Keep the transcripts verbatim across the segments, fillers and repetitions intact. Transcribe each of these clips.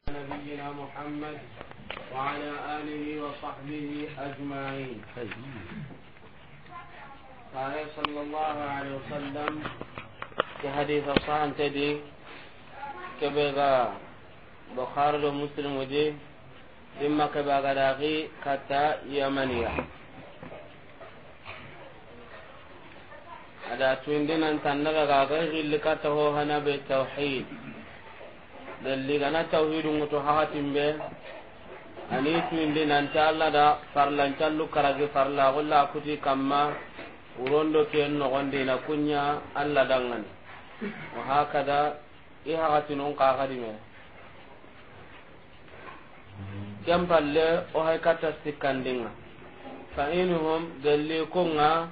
نبينا محمد وعلى آله وصحبه أجمعين. Faare sallallahu alaihi wasallam, ke hadisa sahante di, ke be ga Bukhari do Muslim di, dimma ke be ga dagi katta Yamaniya. A da tuwindi nan tandaga ga ga gilli katta ho hana be tawhid. Dalli gana tawhidu ŋutu hakatin be, ani tuwindi nanti Allah da farlan callu karagi farla gulla kuti kamma, urondo ken nogondi na kunya Allah dangani. Wa hakada, i hakatinun ka ga di me. Ken palle o hay katta sikkandinga. Fa inhum, gelli kunga,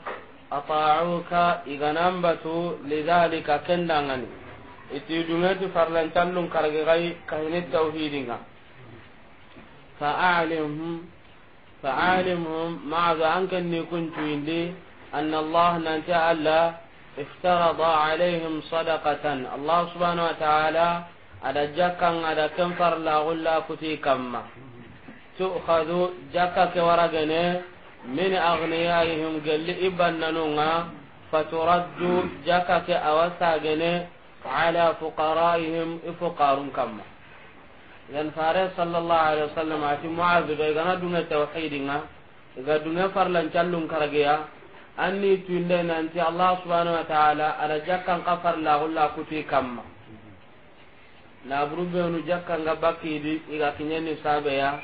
ata'uka, i ga nan batu, lidhalika, ken dangani. I ti dungeti farlan callun karagi gai kahini tawhidinga. Fa a'limhum, fa a'limhum, ma'aza an ken ni kun tuyindi, anna Allah, nanti Allah, iftarada alayhim sadaqatan. Allah subhanahu wa ta'ala a da jakkan a da ken farla gulla kuti kamma. Tu'khadhu, jakka ke waragene, min aghniyaihim, gelli i bannanunga, faturaddu, jakka ke a wasagene, ala fuqaraihim, i fuqarun kamma. Idan Faare sallallahu alaihi wasallam a ti Mu'adh do i gana dunge tawhidinga, i ga dunge farlan callun karageya, anni tunde nanti Allah subhanahu wa ta'ala a da jakkan ka farla gulla kuti kamma. Naburu benu jakka nga bakidi i ga kiɲeni sabe ya.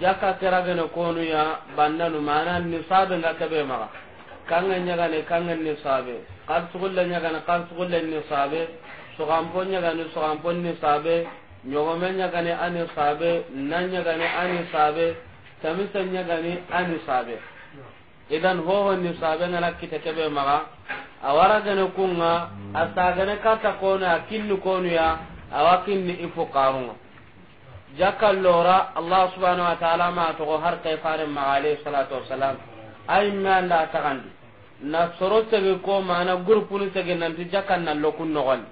Jakka keragene konu ya bannanu mana ni sabe nga kebe maga. Kange ɲagane kange ni sabe. Kar sugulle ɲagane kar sugulle ni sabe. Sogampo ɲagane sogampo ni sabe. Ɲogome ɲagane ani sabe. Na ɲagane ani sabe. Tamise ɲagane ani sabe. Idan hoho ni sabe ngana kite kebe maga. A wara gane kunga, a sagane kata konu, a kinni konu ya, a wa kinni i fuqarunga. Jakka lora, Allah subhanahu wa ta'ala ma togo har kay fare maga alayhi salatu wassalam. Ay me anda tagandi. Na soro tege ko mana gurupunu tege nanti jakka na lokun nogon.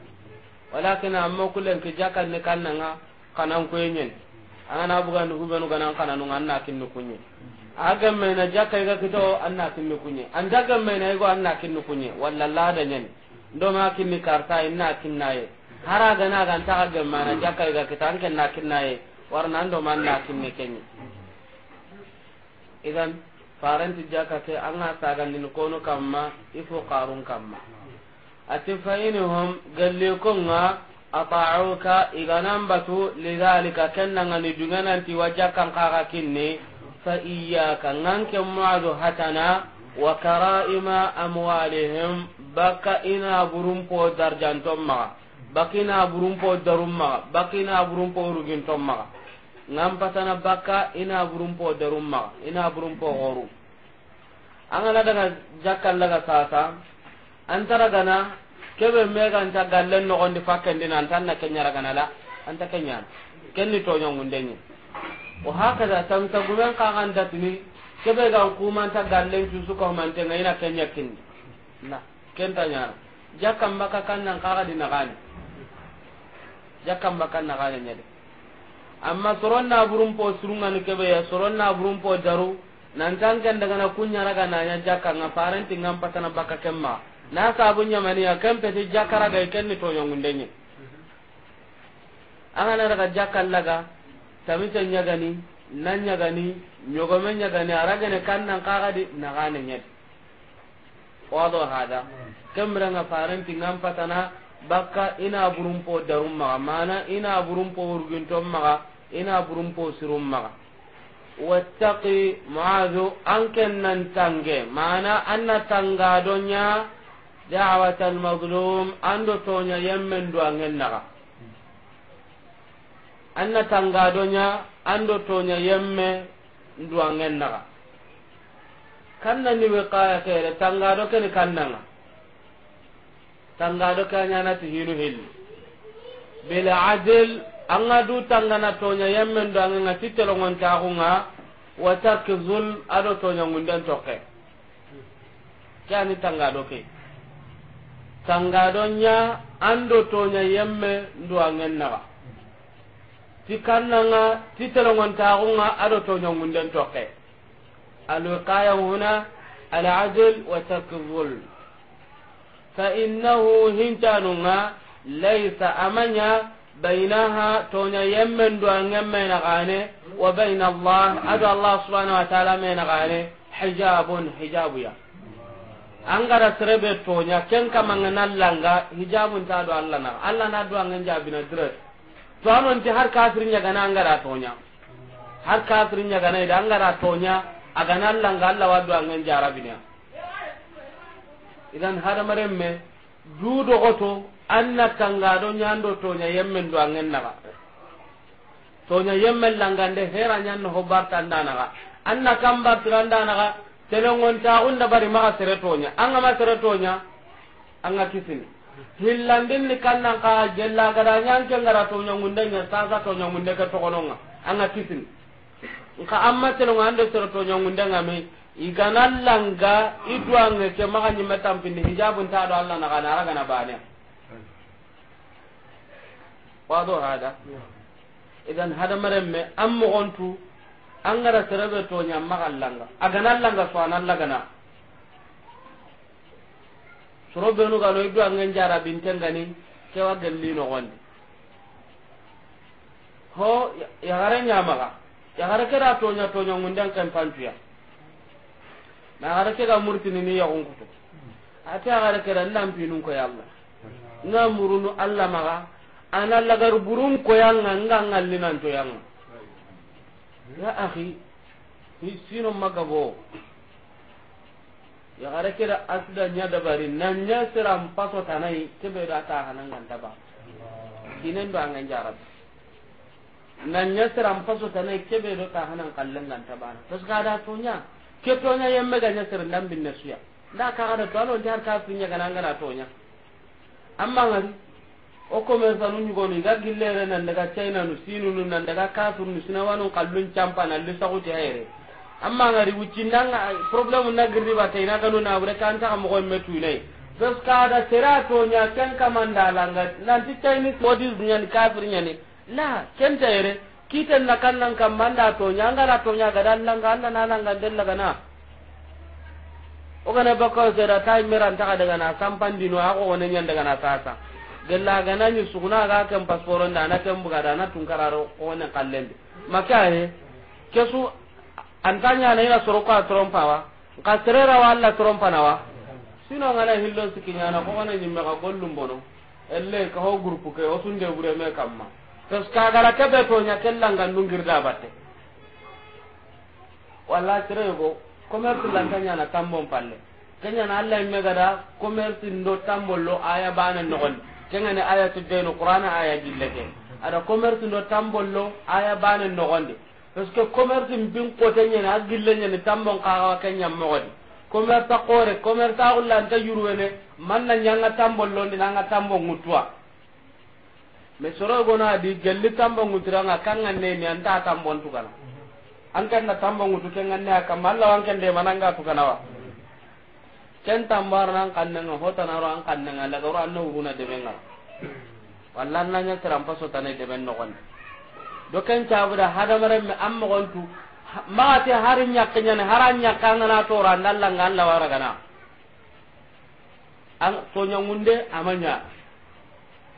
Walakin amma kulen ki jakka ni kannanga, kanan koye ɲen. An gana buga nugu benu ganan kananu an na kinni kuɲe. A gemme na jakka i ga kito an na kinni kuɲe. An da gemme na i go an na kinni kuɲe. Walla lada ɲen. Ndo ma kinni karta in na kinnaye. Hara gana gan ta gemme na jakka i ga kito an ken na kinnaye. Warna ndo ma an na kinni kenye. Idan, farenti jakka ke, an ga sagandini kono kamma, i fuqarun kamma. A ti, "Fa inhum," galli konga, "ata'uka," i ga nan batu, "lidhalika," ken nanga ni dungananti wa jakkan kaga kinni, "fa iyyaka," nganke Mu'adhu hatana, "wa kara'ima amwalihim," baka ina burun po darjanton maga, baka ina burun po darum maga, baka ina burun po urugin ton maga. Ngan patana bakka ina burun po darum maga, ina burun po goru. An gana daga jakka laga sasa, an tara gana kebe me ga nta gallen nogondi fakken dina, an tan na kenya ragana la, an ta kenya. Kenni tonya ngundenye. O haka da tamsa gumen ka ganda tini, kebe ga kuma nta gallen jusu ko mante ngai na kenya kinni. Na. Ken ta ɲana. Jakkan baka kannan kaga di nagani. Jakkan baka nagani ɲade. Amma soron na burun po surungani kebe ya, soron na burun po daru, nan tan ken daga na kunya raga na ɲa jakka nga farenti ngan patana baka kemma. Na sabu ɲamani ya ken peti jakka raga ken ni tonya ngundenye. An gana daga jakka laga, tamise ɲagani, na ɲagani, ɲogome ɲagani, a ragene kannan kaga di, nagane ɲadi. Wado hada. Kemre nga farenti ngan patana, bakka ina burun po darum maga, mana ina burun po urginton maga, ina burun po sirum maga. Wattaqi Mu'adhu, an ken nan tange, mana an na tanga donya, da'watal mazlum, an do tonya yemmen duwangen naga. An na tanga donya, an do tonya yemme duwangen naga. Kanna ni wiqaya kere, tanga do keni kannanga. Tanga do kanyana ti hinu hilli. Bil adl, an ga du tangana tonya yemmen duwangen nga ti telongon taxunga, wa tarki zulm, a do tonya ngunden tokke. Ke ani tanga do ke. Tanga do ɲa an do tonya yemme duwangen naga. Ti kannanga, ti telongontaxunga, a do toñangunden toxe. Alwiqaya huna, al adl wa tarki zulm. Fa innahu, hintanunga, laysa, a ma ña, baynaha, toña yemmen do a ngemme na gane, wa bayna Allah, a do Allah subhanahu wa ta'ala me na gane, hijabun, hijabu ya. An ga ra sere be toña, ken kamanga na langa, hijabun ta do Allah na. Allah na do angen jabina direct. To a no nti har kafiri ña gana an ga ra toña. Har kafiri ña gana i da an ga ra toña, a gana langa, Allah wa do angen jarabina. Idan hadamaren me, du dogoto, an na tanga do ñando toña yemmen do angen naga. Toña yemmen langande hera ñan no ho barta ndanaga. An na kan bartira ndanaga, telongontaxun da bari maxa sere toña. An ga ma sere toña, an ga kisini. Hillandin ni kannan ka gella gada ñan ke ngara toñangunde ña, sasa toñangunde ke toxononga. An ga kisini. Nka amma telonga ando sere toñangunde nga me, i gana langa, i duwange ke maxa ñimme tampindi, hijabun ta do Allah na gana, a ra gana bane. Wado hada. Idan hadamaren me, an mogontu, an ga ra sere be toña, maxa langa. A gana langa, so a na lagana. Soro benu ga no i duwangen jarabinten gani, ke wa gelli noxondi. Ho, ya-, yaxare ñamaxa. Yaxare ke da toña, toñangunden ken pantuya. Na yaxare ke ga murtini ni yaxun kutu. A ti yaxare ke da ndampinun ko ya Allah. Nga murunu Allah maxa. A na lagar burun ko yanga, nga ngalli nan to yanga. Ya akhi, hi sino magabo. Yaxare ke da asida ña dabari, na ña siran paso tanayi, kebe da ta hanan ganta ba. Kinen do angan jarab. Na ña siran paso tanayi, kebe do ta hanan kallen ganta ba. Parce que a da toña, ke toña yemme ga ña siran dan binne suya. Nda ka ga da to, a no nti har kafiri ña gana an ga na toña. Amma ngari, o commerçant nu ñugonu, i ga gillere nan daga China nu, Sinu nu, nan daga kafir nu, Sinawanu kallun campa na li saxuti hayre. Amma ngari, wucci nanga, problème na girdi ba tayna kanu na bure kan ta mo ko metu nay. Parce que a da sera toña ken kamanda langa, nanti Chinese modis ñani, kafir ñani. La, ken ta yere, kiten na kannan kamma nda toña, an ga ra toña ga da langa, Allah na langa ndella gana. O gana bako sera tay meran ta ga daga na sampandino, a ko wona ñan daga na sasa. Gella gana ni suguna ga ken passeport nda na ken buga da na tunkararo ko wona kallendi. Maka he, kesu antanya na ina soro ko a trompa wa. Nka serera wa Allah trompana wa. Sino ngana hillo siki ñana ko ngana ñimme ka gollum bono. Elle ka ho groupe ke o sunde bure me kamma. Parce que a ga ra kebe toña kella ngandu ngirda batte. Walla sere go commerce lanta ñana tambon palle. Kenya na Allah imme ga da commerce ndo tambollo aya bane noxondi. Kenya ne ayatu deno Qur'ana aya gilleke. A da commerce ndo tambollo aya bane noxondi. Parce que commerce bin kote ñene, a gille ñene, tambon kaxa wa ken ñam moxo di. Commerce a xore, commerce a xulla anta yuruwene, man na ñanga tambon londi, nanga tambon ŋutuwa. Mais soro gono a di gelli tambon ŋuturanga, kanga ne ni anta tambon tugana. An kan na tambon ŋutu ken ganne a kamma, Allah wan ken de mananga tugana wa. Ken tambar nan kannenga, hotanaro an kannenga, lagaro an na wuruna debenga. Walla an na ña siran paso tane deben noxondi. Do ken cabuda hadamaren me an moxontu, ha-, maxa te hari ñakke ñani, hara ñakka an gana tora, an da langa, an lawa ragana. An toñangunde a ma ña.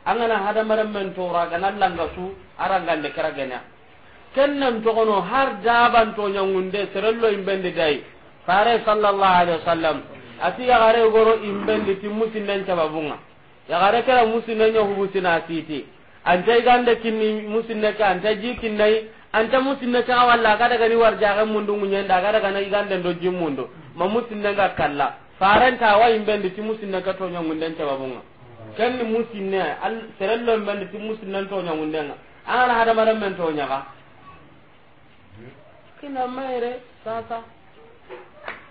An gana hadamaren men tora, gana langa su, a rangande kera gena. Ken nan toxono har daban toñangunde, serello imbendi day. Fare sallallahu alaihi wasallam. A ti yaxare goro imbendi ti musinden cababunga. Yaxare kera musinde ño hubusina siti. Anta igande kinni musinde ke, anta ji kinnai, anta musinde ke walla, a ga daga ni warjaxe mundu ŋuñenda, a ga daga na igande ndo ji mundu. Ma musinde nga kalla. Farenta wa imbendi ti musinde ke toñangunden cababunga. Ken ni musinde, al-, serello imbendi ti musinden toñangundenga. An gana hadamaren men toñaxa. Kina mayre, sasa.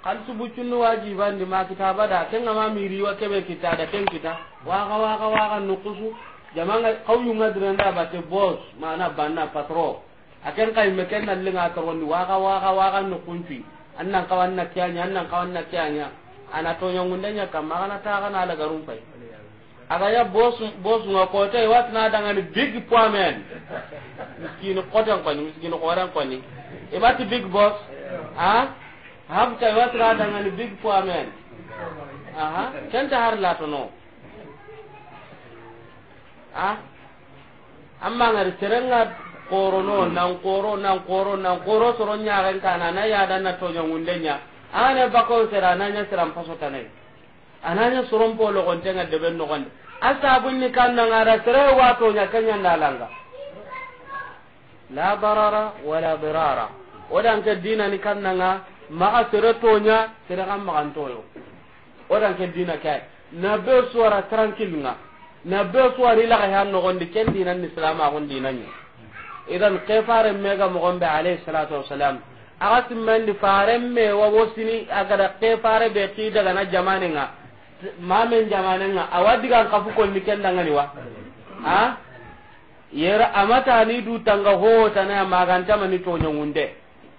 Xalisu buccundu wajibandi ma kitaba da, ken ga ma miri wa kebe kita da, ken kita. Waxa, waxa, waxa, nukusu. Jamanga, xawyunga direnda bate boss, mana banna patron. A ken kay me ken na linga torondi, waxa, waxa, waxa, nukunci. Annan kawanna kiyanya, annan kawanna kiyanya. Ana toñangunde ña kamma, ana taxana lagarun pay. A ga ya boss, boss nga ko te, i wa ti na dangani big poimen. Miskini xoten koni, miskini xoren koni. I ma ti big boss. Ha? Habta, i wa ti na dangani big poimen. Aha, ken ta har latono. Ha? Amma ngari serenga korono, nan koro, nan koro, nan koro, soro ɲaxen kana, na yada na toɲa ŋundenya. Ane bako sera, na ɲa seran paso tanai. A na ɲa soron po logontenga deben noxondi. A sabun ni kannanga da sere wa toɲa kenya ndalanga. La darara wala dirara. O dan ke dina ni kannanga, maxa sere toɲa, sere kan maxan toyo. O dan ke dina ke. Na be suwara tranquille nga. Na be suwari la ga han noxondi, ken dina ni Islam a gon dina ni. Idan ke fare mega moxon be alayhi salatu wassalam. Aga simmandi fare me wa wosini, aga da ke fare be ti daga na jamane nga. Mamen jamane nga. Awa digan kafu konni ken dangani wa. Ha? Yera amata ni du tanga ho tana maganta mani toɲa ŋunde.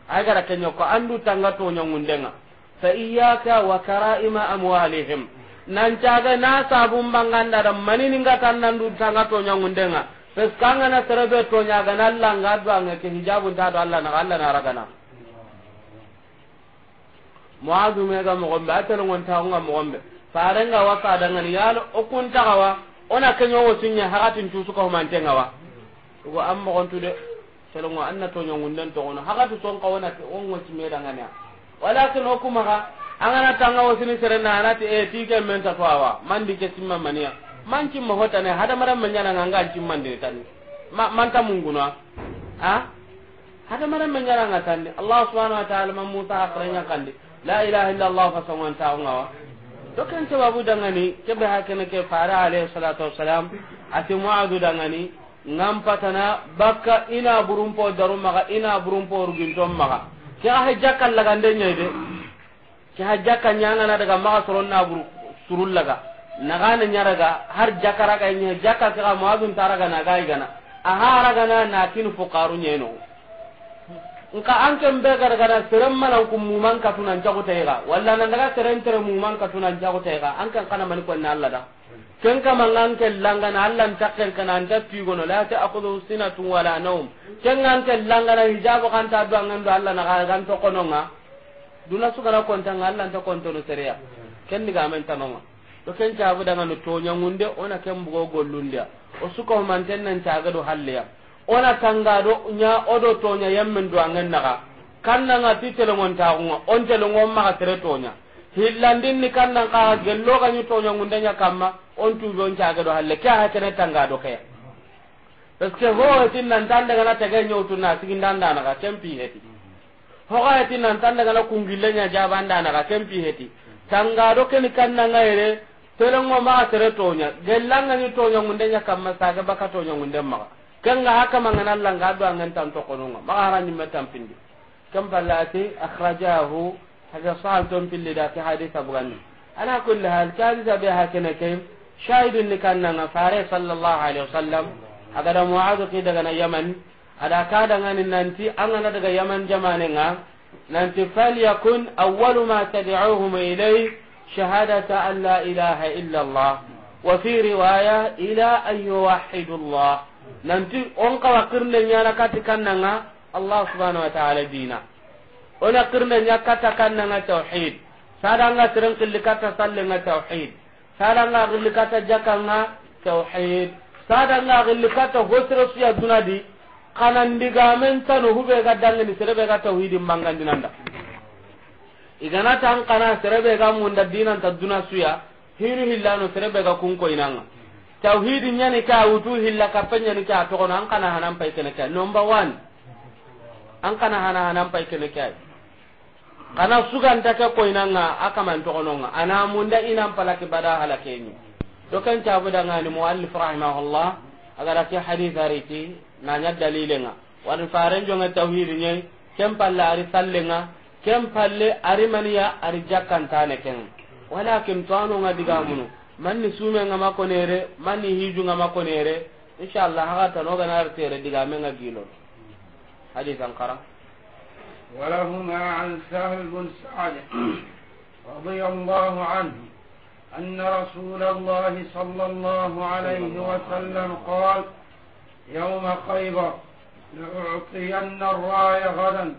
Ay gara kenyo ko andu tanga toɲa ŋunde nga. Fa iyyaka wa kara'ima amwalihim. Nan caga na sabun banganda da manini nga tan nan du tanga toɲa ŋunde nga. Pes kanga na serebe toɲa ga na Allah nga do anga ke hijabun ta do Allah na, Allah na ragana. Muazu me ga moxon be, a telongon taxu nga moxon be. Farenga wasa dangani, yalo o kun taxawa, o na keɲo wo sinye, hakatin cusu ka humantenga wa. Ugo an moxon tu de, telongo an na toɲa ŋunden toxono, hakati son ka wona ke, o ŋo si me dangani ya. Walakin o kuma ga, an ga na tanga wo sini sere na, a na ti, e, ti ke men ta to awa, mandi ke simma maniya. Man cimma hotane, hadamaren me ɲana nga an ga an cimmandi tani. Ma, man ta munguna. Ha? Hadamaren me ɲana nga tandi. Allah subhanahu wa ta'ala ma Musa akra ɲa kandi. La ilaha illa Allah fa songon ta nga wa. To ken sababu dangani, ke be hakene ke fare alayhi salatu wassalam, ati Muazu dangani, ngam patana bakka ina burumpo daru maga, ina burumpo ruginto maga. Ke a hajja kallagande ɲai de. Ke ha jakka ɲangana daga maxa soron na buru surullaga. Nagana ɲaraga har jakka raga ɲa jakka ke ga Muazun taraga na ga igana. A haraga na na kin fuqaru ɲeno. Nka an ken be gargana seren manan ku muman katunan jago tayga. Walla nan daga seren tere muman katunan jago tayga. An kan kana mani ko na Allah da. Ken kama ngan ke langana Allah ntaken kana anta pigono la ta'khudhu sinatun wala nawm. Ken ngan ke langana hijabu kan ta do ngan do Allah na ga gan to kononga. Duna sugana kontanga Allah nta kontono sereya. Ken diga men tanonga. To ken cabu daga no toɲa ŋunde, o na ken bugo gollundiya. O suka humanten nan caga do halleya. O na tanga do ɲa o do toɲa yemmen do angen naga. Kannanga ti telongon taxunga, on telongon maxa sere toɲa. Hillandin ni kannan ka gello ga ni toɲa ŋunde ɲa kamma, on tubi on caga do halle. Ke ha kene tanga do ke. Parce que ho tin nan tan daga na tege ɲewtu na sigindanda naga, ken pi heti. Hoga heti nan tan daga na kungille ɲa jabanda naga, ken pi heti. Tanga do ken kanna nga yere, telongo ma sere toɲa, gellanga ni toɲa ŋunde ɲa kamma saga baka toɲa ŋunde maga. Ken nga haka mangana langa do angen tan to kononga, maga haranyi metan pindi. Ken pallati akhrajahu, hada sahal ton pilli da ke hadisa bugandi. Ala kulli hal, ke hadisa be hakene ke, shahidun ni kanna nga fare sallallahu alaihi wasallam, agada Mu'adh ki daga na Yaman, ada ka dangani nanti an gana daga Yaman jamane nga, nanti, "Falyakun awwalu ma tad'uhum ilayhi shahadata an la ilaha illa Allah." Wa fi riwaya, "Ila an yuwahhidu Allah." Nanti on kawa kirne nyana kati kannanga Allah subhanahu wa ta'ala dina. Ona kirne nya kata kannanga tawhid. Sadanga sirin killi kata sallenga tawhid. Sadanga gilli kata jakanga tawhid. Sadanga gilli kata hosre suya dunadi. Kanan digamen tano hube ga dangini serebe ga tawhidin mangandinanda. Igana tan kana serebe ga munda dinanta duna suya. Hinu hillano serebe ga kun koinanga. Tawhidi nyani ka wutu hilla kape nyani ka tokono an kana hanan pay kene ka. Number one. An kana hana hanan pay kene ka. Kana suganta ke koinanga a kaman togononga. Ana munda inan palaki bada halakeni. Do ken cabu dangani muallif rahimahullah. Agara ke hadith ariti nanya dalilenga. Wari faren jonga tawhidi nyai. Ken palle ari sallenga. Ken palle ari maniya ari jakkantane ken. Walakin to anonga digamunu. Manni sumenga makonere, manni hijunga makonere. Inshallah haga tanoga na artere digamenga gilo. Hadith ankara. ولهما عن سهل بن سعد رضي الله عنه أن رسول الله صلى الله عليه وسلم قال: يوم خيبر: لأعطين الراية غدا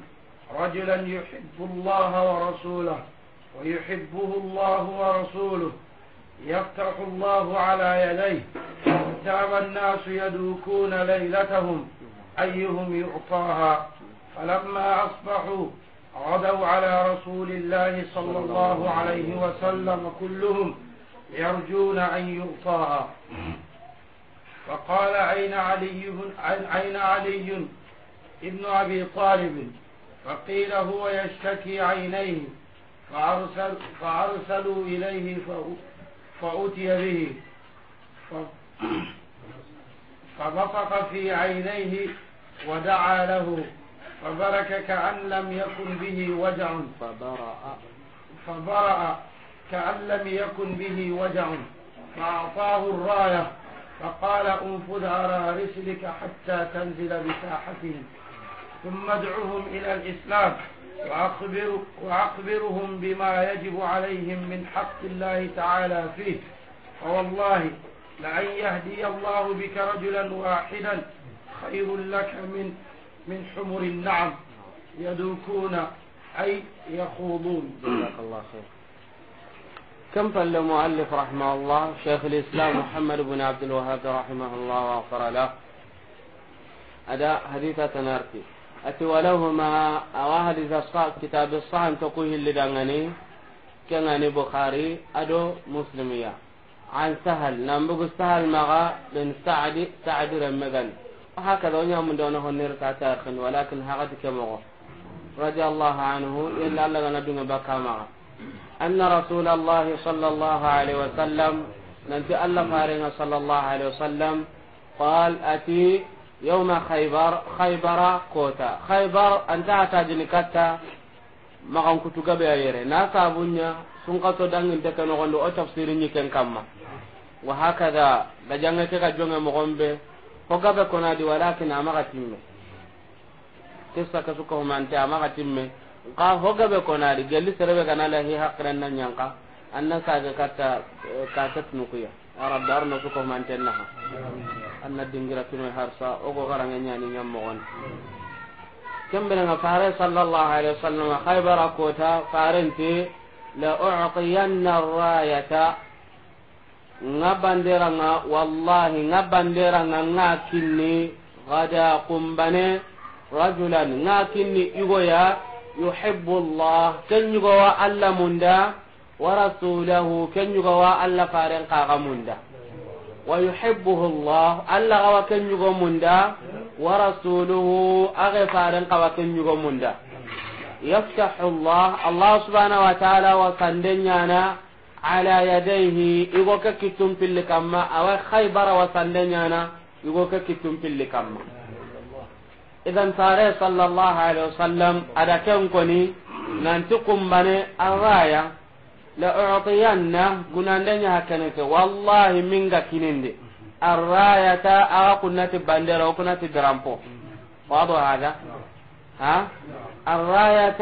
رجلا يحب الله ورسوله ويحبه الله ورسوله، يفتح الله على يديه، وارتاب الناس يدوكون ليلتهم أيهم يعطاها، فلما أصبحوا غدوا على رسول الله صلى الله عليه وسلم كلهم يرجون أن يعطاها. فقال: أين علي بن، أين علي ابن أبي طالب؟ فقيل: هو يشتكي عينيه. فأرسل، فأرسلوا إليه فأ-، فأتي به. ف-، فبصق في عينيه ودعا له، فبرك كأن لم يكن به وجع. فبرأ. فبرأ كأن لم يكن به وجع، فأعطاه الراية، فقال: انفذ على رسلك حتى تنزل بساحتهم، ثم ادعهم إلى الإسلام، وأخبر-، وأخبرهم بما يجب عليهم من حق الله تعالى فيه، فوالله لأن يهدي الله بك رجلا واحدا خير لك من، من حمر النعم، يدوكون أي يخوضون. جزاك الله خير. Ken palle muallif rahimahullah, Sheikhul Islam Muhammad ibn Abdul Wahhab rahimahullah wa ghafara lah, a da hadisa tana arti. A ti: ولهما, a wa hadisa sa-, kitabu sahan to ku hilli dangani, ken ga ni Bukhari do Muslim ya. عن سهل, nan bugu Sahal maxa, بن سعد, Sa'd renme ga ni. Haka da o ɲa mun do na honnir ta tarikhin, walakin haka ti ke moxo. رضي الله عنه, yalla Alla ga na dunŋe bakka maxa. أن رسول الله صلى الله عليه وسلم, nanti Alla farenŋa صلى الله عليه وسلم, قال, a ti, يوم خيبر, Khaybara kota. Khaybar, an ta ta jini katta, maxan kutu gabe a yere. Na sabu ɲa, sunkaso danginte ke noxondi, o tafsiri ɲi ken kamma. Wa hakada, ga janŋe ke ga jonŋe moxon be, ho gabe kona di, walakin a maxa timme. Kissa ke su ko humante, a maxa timme. Nxa ho gabe kona di, gelli sere be ga na lahi haqiren na ɲanka, an na sage katta, eh, katta tunu kuya. Ya Rabbi, arno su ko manten naxa. An na dingira kinoy harsa, o go garanŋe ɲani ɲa moxon. Ken birenŋa Fare صلى الله عليه وسلم Khaybara kota, Faren ti: لأعطين الراية. Ŋa bandera ŋa, wallahi, ŋa bandera ŋa, ŋa kinni, غدا, kumbane, رجلا, ŋa kinni yigo ya, يحب الله, ken yigo wa Alla munda, ورسوله, ken yigo wa Alla faren xa ga munda. ويحبه الله, Alla ga wa ken yigo munda, ورسوله, a ga faren xa wa ken yigo munda. يفتح الله, Allah subhanahu wa ta'ala wa sande ɲana, على يديه, yigo ke kittun pilli kamma, a wa Khaybara wa sande ɲana, yigo ke kittun pilli kamma. Idan Fare صلى الله عليه وسلم, a da ken koni, nanti kumbane, الراية, لأعطين, gunande ɲa hakene ke, wallahi, min ga kinindi. الراية, a ga kunnati bandera, o kunnati drapeau. واضح هذا؟ Ha? الراية,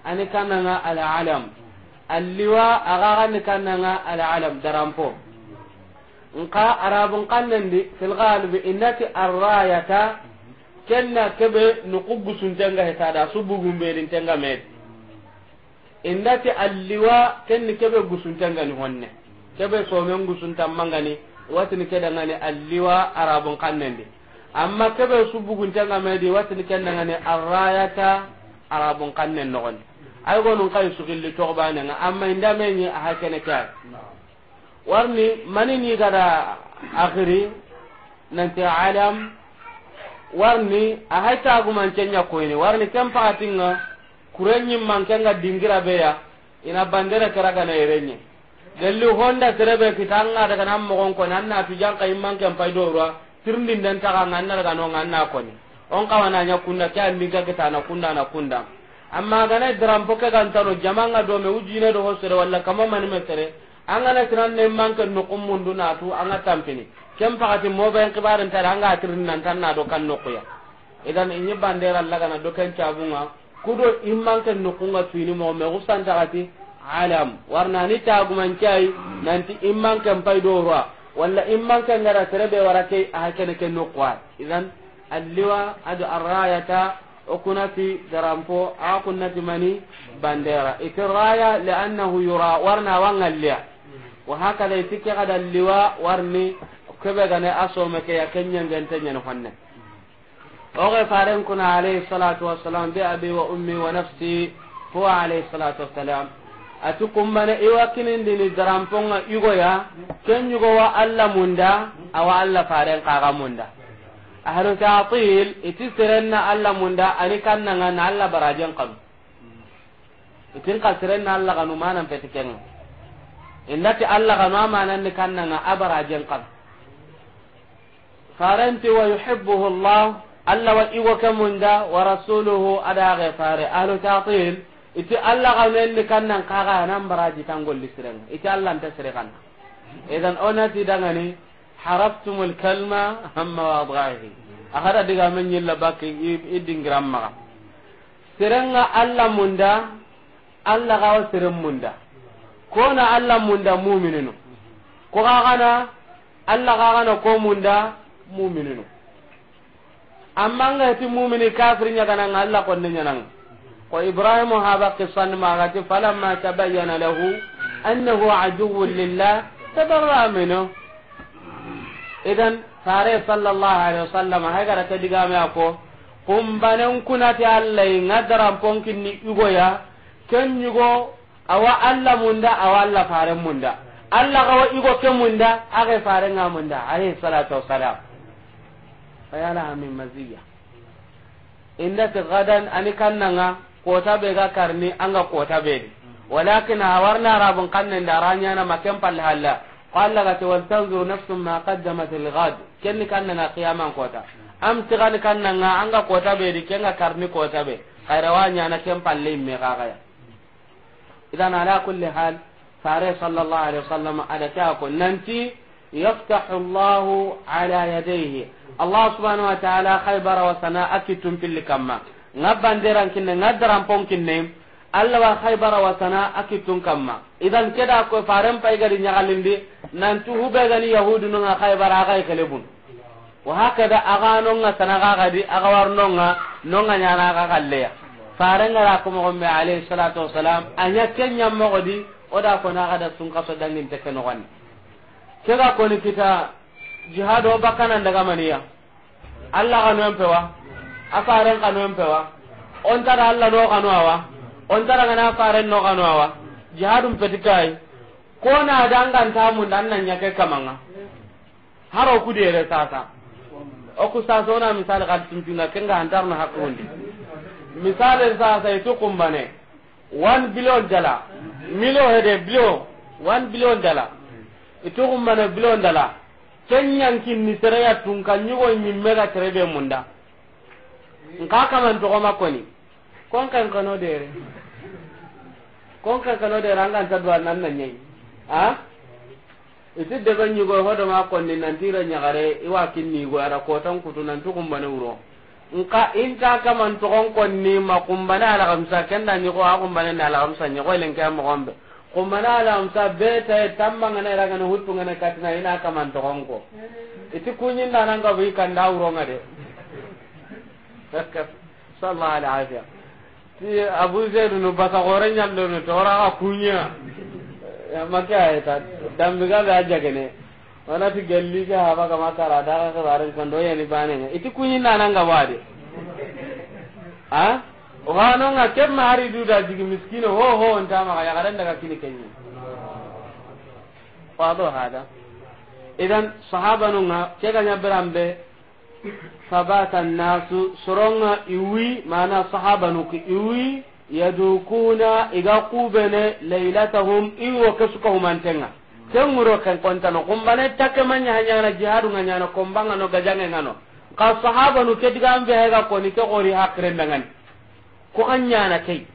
a ni kanna ŋa العلم. اللواء, a ga ni kanna ŋa العلم, drapeau. Nxa Arabun xannen di, في الغالب, i na ti الراية, ken na kebe nuxu gusunten ga heta da, su bugun beerinten ga me di. I na ti اللواء, ken ni kebe gusunten ga ni honne. Kebe somen gusuntan ma ga ni, wa ti ni ke da ŋa ni اللواء Arabun xannen di. Amma kebe su bugunten ga me di, wa ti ni ken da ŋa ni الراية Arabun xannen noxon di. Ay gonun xa yi su gilli toxo baane ŋa, amma i nda me ɲi a hakene ke ay. Warni, mani ni ga da axiri, nanti علم, warni, a hay tagumance ɲa koyini, warni, ken paxatin ŋa, kure ɲimman ken ga dingira be ya, i na bandera ke raga na yere ɲi. Gelli honda sere be kita an ga daga na moxon koni, an na tu janka yimman ken pay do ruwa, tirindi nden taxa ŋa, an na daga no ŋa, an na koni. On xawa na ɲa kunda, ke an di ga kita na kunda, na kunda. Amma ga na drapeau ke ga nta no, jama ŋa do me wujine do ho sere, walla kama mani me sere, an ga na tiran ne manke nuxu mundu na tu, an ga tampini. Ken paxati mo be en xibaren ta da, an ga tirin nan tan na do kan nuxu ya. Idan i ɲi bandera laga na do ken cabun ŋa, kudo i manke nuxu ŋa tuini mo me gusan taxati, Alam, warna ni tagumancai, nanti imman ken pay do ruwa, walla imman ken gara sere be wara ke, a kene ke noqu wa. Idan, alliwa ado arrayata, o kunati darampo, a kunati mani bandera. Iti raya, li'annahu yura, warna wa ngalliya. Wa hakada iti ke gada liwa, warni, kebe gane a some ke ya kenyan gante nyan honne. Oge faren kuna alayhi salatu wassalam, bi abi wa ummi wa nafsi, huwa alayhi salatu wassalam. Ati kumbane iwa kinindini daramponga igoya, ken yugo wa Alla munda, awa Alla faren kaga munda. Ahlu ta'til, iti serenna Alla munda, ani kannanga na Alla barajen kanu. Itin ka serenna Alla kanu manan peti kenga. Indati Alla kanu amanan ni kannanga a barajen kanu. Farenti wa yuhibbuhu Allah, Alla wa igo ke munda, wa rasuluhu ada ge fare. Ahlu ta'til, iti Alla kanu en ni kannan kaga nan baraji tangolli sirenga. Iti Alla nta sire kanna. Idan onati dangani, haraftumul kalma amma wadihi. Akada diga men yilla bakki i, i dingiran maga. Serenga Alla munda, Alla gawa seren munda. Kona Alla munda mu'mininu. Ko gagana Alla gagana ko munda mu'mininu. Amma nga ti mu'mini kafiri nya gana nga Alla konne nya nanga. Ko Ibrahim haba qissan ma gati falamma tabayyana lahu annahu aduwwun lillah tabarra'a minhu. Idan fare sallallahu alaihi wasallam hay gara ta diga me ako kumbanen kunati Alla nga daran ponkin ni igoya ken yugo awa Alla munda, awa Alla faren munda. Alla gawa igo ke munda, age faren nga munda, alayhi salatu wassalam. Fayala min maziya. Inda ti gadan ani kannanga, kota be ga karni, anga kota be di. Walakin a warna Arabun kannen da ranya na maken pal halla. Qala gati wal tanzur nafsun ma qaddamat li gad. Kenni kannanga qiyaman kota. Am tigani kannanga, anga kota be di, kenga karni kota be. Khayra wanya na ken palle me gagaya. Idan ala kulli hal, fare sallallahu alaihi wasallam ada ta ko nanti yaftahu Allahu ala yadayhi. Allah subhanahu wa ta'ala Khaybara wa sana akitun pilli kamma. Nga banderan kinne, nga darampon kinne, Allah wa Khaybara wa sana akitun kamma. Idan keda ko faren pay gadi nyagalindi, nanti hube gani Yahudu no nga Khaybara aga kelebun. Wa hakada, aga nonga sanaga gadi, aga war nonga, nonga nyana aga kalleya. Farenga ra ko mo gombe alayhi salatu wassalam, anya kenya mo godi, oda ko na gada sun kaso dangin teke no gani. Kega ko ni kita jihado bakana daga maniya. Allah kanu en pewa, a faren kanu en pewa. On tara Allah no kanu awa, on tara ngana faren no kanu awa. Jihadum petikai. Kona dangan tamun dan nan nyake kamanga. Haro ku dere sasa. O ku sasa ona misali kal tumpinga kenga antarno hakundi. Misali sasa itu kumbane. One billion dollar. Milo hede billion. One billion dollar. Itu kumbane billion dollar. Kenyan kinni sereya tun kan yugo nyimme ga terebe munda. Nka kaman to ma koni. Kon kan kano dere. Kon kan kano dere, an ga nta duwa nan na nyai. Ha? Iti debe nyugo hodo ma konni nanti ra nyagare, iwa kinni go ara kotan kutu nanti kumbane wuro. Nka inta kaman togon konni ma kumbane ala kamsa kenda nyugo a kumbane na ala kamsa nyugo lenke mo gombe. Kumbane ala kamsa beta e tamba ngana ra ngana hutu ngana katina ina kaman togon ko. Iti kunyin da nan ga bi kanda wuro ngade. Sallallahu alaihi wasallam. Ti Abu Zaidu no basa gore nyallo no tora ga kunya. Ya maka ayta dambi ga ga jagene. Wana ti gelli ga haba ga makara da ga garan kando yani bane. Iti kunyi nananga wade. Ha? O hano nga kemma hari du da jigi miskino ho ho on tama ya garan daga kini kenyi. Wado hada. Idan sahaba nunga kega nyaberambe. Fabata annasu, soronga iwi, mana sahabanu ki iwi, yadukuna, iga kubene, laylatahum, iwo kesuka humantenga. Ken nguro ken kontano, kumbane take manya hanyana jihadu nganyana, kombanga no gajange ngano. Ka sahabanu ke diga ambe hega koni ke gori hakren dangani. Ko anyana kei.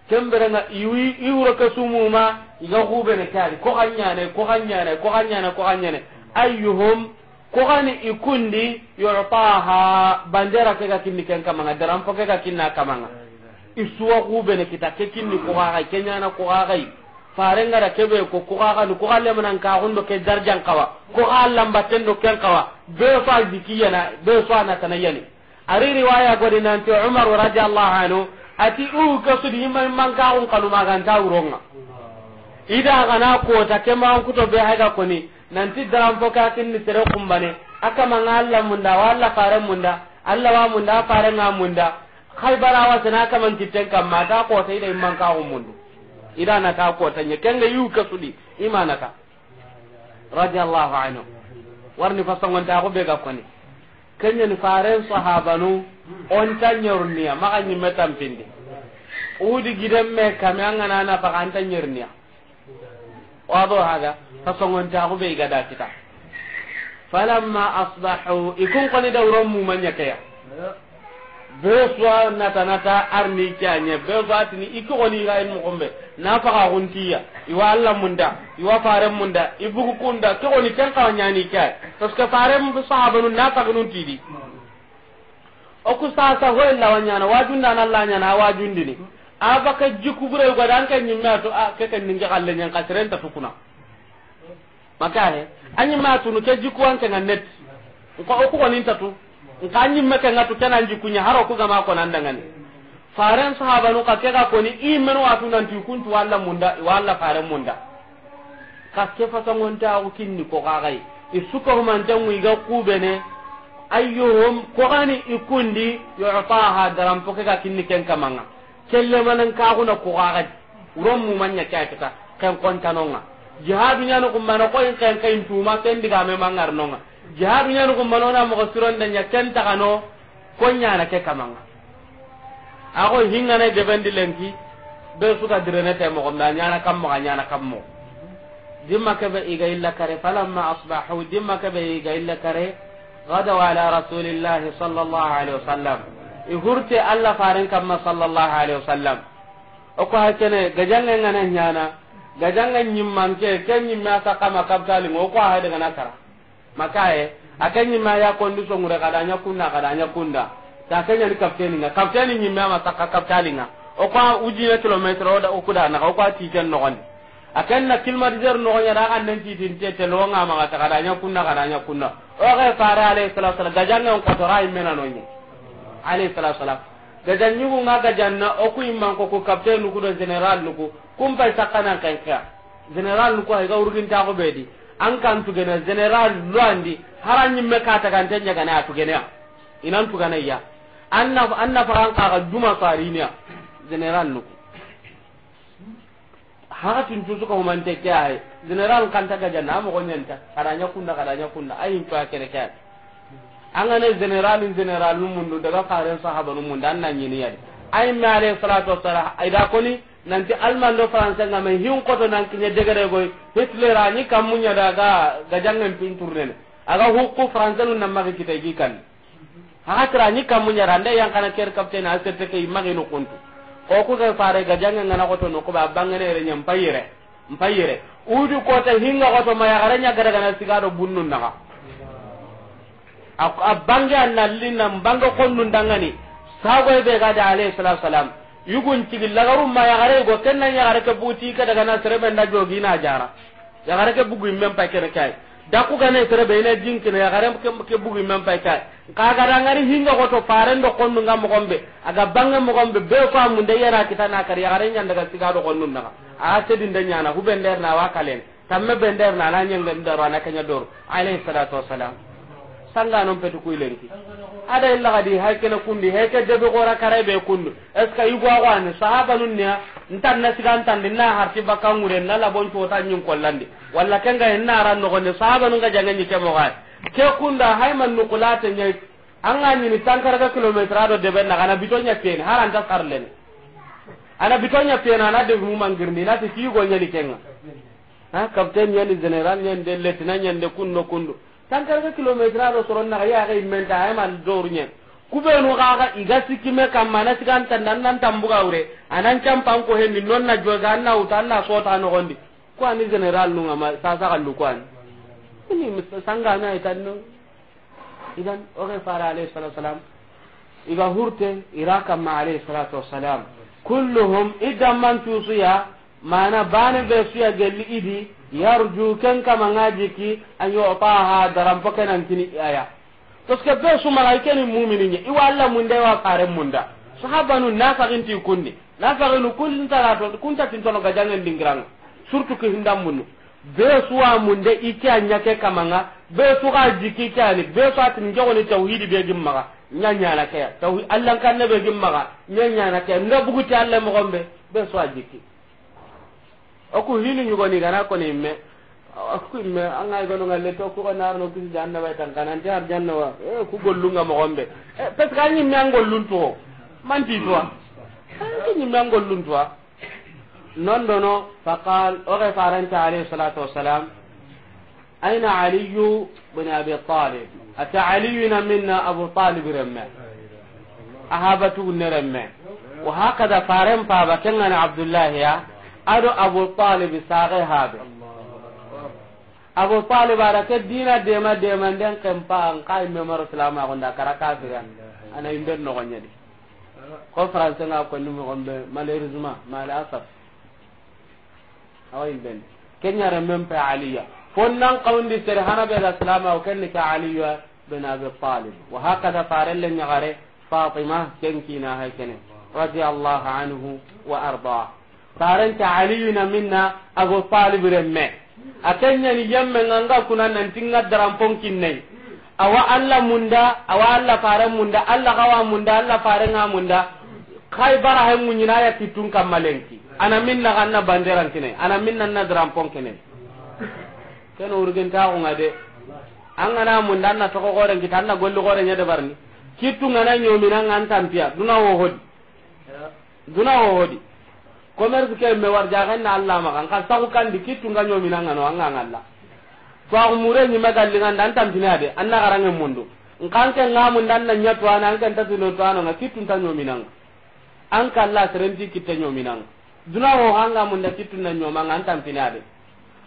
Kemberenga iwi, iwuro ke sumuma, iga hubene kari. Ko ganyane, ko ganyane, ko ganyane, ko ganyane. Ayyuhum, ko gani ikundi, yu'taha, bandera ke ga kinni ken kamanga, darampo ke ga kinna kamanga. I suwa ku bene kita ke kinni ko ga ga, ke ɲana ko ga ga. Faren ga da ke be ko, ko ga ga ni ko ga lemanan ka gundo ke darjan kawa. Ko ga lambaten do ken kawa. Be fa zikiya na, be fa na tanayani. Ari riwaya godi nanti Umar radiyallahu anhu, ati u ka sudi imma imman ka gun kanu maganta wuronga. Ida gana kota ke ma kuto be haiga koni, nanti daram fo ka kinni tere kumbane, aka manga Allah munda, wala fare munda, Allah wa munda, fare nga munda. Khaybara wa sana kaman kitten kamma, ta kota ida imman ka gun mundu. Ida na ta kota nye, kenga yu ka sudi, imanata. Radiyallahu anhu. Warni fasongon ta ko be ga koni. Kenya ni faren sahabanu, on ta nyorniya, maka nyimme tampindi. Udi giden me kame an gana na baka an ta nyorniya. Wado haga, fasongon ta ko be ga da kita. Falamma asbahu, ikun koni da uron mu manya kaya. Be suwa nata nata arni kya nye, be suwa tini iki goni ga in mukumbe, na faga guntiya, iwa Allah munda, iwa faren munda, ibugu kunda, ke goni ken kawa nyani kya. Parce que faren sahabanu na faga nun tidi. O ku sasa ho illa wanyana, wajunda na Allah nyana, wajundini. Abaka jiku bure yugo dan ke nyimme to, a, ke ke ninge galle nyan ka seren ta tukuna. Maka he, anyi ma tunu ke jiku an ke nga net. Nko o ku goni ntatu. Nka anyi me ke nga tu kenan jiku nya haro ku gama ko nan dangani. Faren sahabanu ka ke ga koni i meno watu nanti kuntu wala munda, wala faren munda. Ka ke fasangon ta o kinni ko ga gai. Isuka humanten wi ga kubene. Ayyuhum, ko gani ikundi, yu'taha, daram fo ke ga kinni ken kamanga. Kelle manan ka guna ko gagadi. Uron mu manya kya kita, ken kontanonga. Jihadu nyanu kumbano ko in ken ken tuma ken diga me mangar nonga. Jihadu nyanu kumbano na mo siron da nya ken tagano, ko nyana ke kamanga. Ago hingana de bendi lenki, be suka direne te mo gombe, nyana kammo, nyana kammo. Dimma ke be iga illa kare, falamma asbahu, dimma ke be iga illa kare, gadaw ala rasulillahi sallallahu alaihi wasallam. I hurte Allah faren kamma sallallahu alaihi wasallam. O ko hakene, gajange ngana nyana, gajange nyimmanke, ken nyimme asa kama kaptali ngo, o ko ha daga na kara. Makaye, a ken nyimme ya kondi songure kada nya kunna, kada nya kunda. Ta ken nya ni kapteni nga, kapteni nyimme ama saka kaptali nga. O ko ujine kilomètre o da o kuda na, o ko ti ken no gondi. A ken na climatiseur no gondi da kan nan ti tin te te lo nga ma ta kada nya kunna, kada nya kunna. O ga fare alayhi salatu wasalam, gajange on ko to ray mena no nyi. Alayhi salatu wasalam. Gajan nyugu nga gajanna, o ku imman ko ku capitaine nuku do général nuku, kumpay sakana kenka. Général nuku ay ga urgin ta ko bedi. An kan tugene général luandi, haranyi me ka ta kan tenya gana tugene. Inan tugana ya. Anna, anna faran ka ga duma fariniya. Général nuku. Hakatin tusu ka humante ke ay. Général kan ta gajanna mo gonyanta. Kada nya kunda, kada nya kunda. Ay in to akere ke. An ga ne général, général nu mundu daga faren sahaba nu mundu, an na ɲini yadi. Ay me alayhi salatu wassalam, ay da koni, nanti Allemand do France nga me hin koto nan kiɲe degere goy, Hitler a ni kamunya daga gajangen pin tourner. Aga hukku France nu nan magi kita gi kan. Haka tira ni kamunya rande yan kana ker capitaine a sette ke magi no kuntu. Ko ku ga fare gajangen ngana koto no ko ba bangene re nyam payire. Mpayire. Udu kota hinga koto ma yagare ɲa gada gana sigado bunnun naga. A, a bange a nalli na bange konnun dangani. Sagoy be ga da alayhi salatu wasalam. Yugun tigi lagaru ma yagare go kenna yagare ke buti ke daga na serebe nda jogi na jara. Yagare ke bugu men pa kene kay. Daku gane serebe ina jinkine yagare ke, ke bugu men pa kay. Ka ga da ngari hinga koto faren do konnu nga mo gombe. Aga bange mo gombe be fa mun de yana kitana kar yagare ɲan daga sigado konnun naga. A sedin de ɲana hubender na wa kalen. Tamme bender na na ɲengen daro ana kenya doro. Alayhi salatu wassalam. Sanga non petu kuilenki. Ada illa gadi hay kene kundi, hay ke debe gora kare be kundu. Est-ce que yugo agwani sahaba nun niya? Ntan na siga ntan din na harti bakangure na labon tota nyin kollandi. Walla kenga en na ran no gonde sahaba nun ga jangen ni kemo ga. Ke kunda hay man nukulate nyai. An ga ɲini tankarga kilomètre ado debe na kana bitonya pen haranta sarlen. Ana bitonya pen ana de mu mangirni na ti kigo nyani kenga. Ha, capitaine ɲani, général ɲani de, lieutenant ɲani de, kunno kundo. Tankarga kilomètre ado soron na ya ga imenta ay man doru ɲen. Kubenu ga ga iga sikime kamma na siganta nan nan tambuga wure. Anan campan ko henni non na joga anna uta anna sota no gondi. Ko ani général nu ngama sasa kan du ko ani. Ini sanga na itanno. Idan, o ke fara alayhi salatu wasalam, iga hurte, ira kamma alayhi salatu wasalam. Kulluhum, i damman tusuya, mana bane be suya gelli idi, yarju ken kama nga jiki, an yu'taha darampo kenan kini aya. Parce que be su maxa i keni mumini ɲa, i wa Alla munda, i wa faren munda. Sahabanu nafaxin ti kunni, nafaxinu kun tara to, kun ta tintono gajangen dingiranga, surtout ki hindan munnu. Be su wa munde i ke a ɲa ke kamanga, be su ga jiki ke ani, be su a tin jogoni tawhidi be gimmaga, ɲa ɲana ke ya. Tawhi-, Allan kanne be gimmaga, ɲa ɲana ke ya. Nga buguti Alla moxon be, be su a jiki. O ku hinu ɲugoni gana koni imme. O ku imme, an ga i gono ngalle to, ku ga narno kisi jahannaba tan, kananti arjanna wa. E, ku gollunga moxon be. E, parce que an ɲimme an gollun to. Manti to wa. An ke ɲimme an gollun to wa. Non dono, faqal, o ke faranta alayhi salatu wassalam, ayna Aliyu bin Abi Talib? Ata Aliyu na minna Abu Talib remme. Ahabatu ne remme. Wa hakada faren paba kengana Abdullahi ya, ado Abu Talib sage habe. Abu Talib ada ke dina dema dema nden kempa an kai memaro salama gonda kara kafira. Ana imben no gonyadi. Ko français nga ko ni moxon be, malheureusement, mal asaf. Awa imben. Kenya re men pe Aliya. Fonnan qawndi sere hana be da salama o ken ni ka Aliya bin Abi Talib. Wa hakada farelle ɲagare Fatima ken kina hay kene. Radiyallahu anhu wa arda. Faranta Aliyu na minna Abu Talib remme. A kenya ni yemme nga nga kuna nan tinga darampon kinnai. Awa Alla munda, awa Alla faren munda, Alla gawa munda, Alla faren nga munda. Khaybara hay munyina ya kitun kammalenki. Ana minna ganna banderan kinai, ana minna na darampon kinai. Ken urgin ta ko ngade. An gana munda na to ko goren kita na golli goren ya de barni. Kitu ngana ɲomina ngan tampiya, duna wo hodi. Duna wo hodi. Commerce ke me war jagan na Alla ma kan, kan sagu kandi kitu nga ɲomina ngano anga ngalla. To a mure ni magalli nganda an tampina de, an na garange mundu. Nkan ke nga munda na ɲa to ana, an kan ta tuno to ano nga kitu ta ɲomina nga. An kalla serenti kitte ɲomina nga. Duna wo hanga munda kitu na ɲoma nga an tampina de.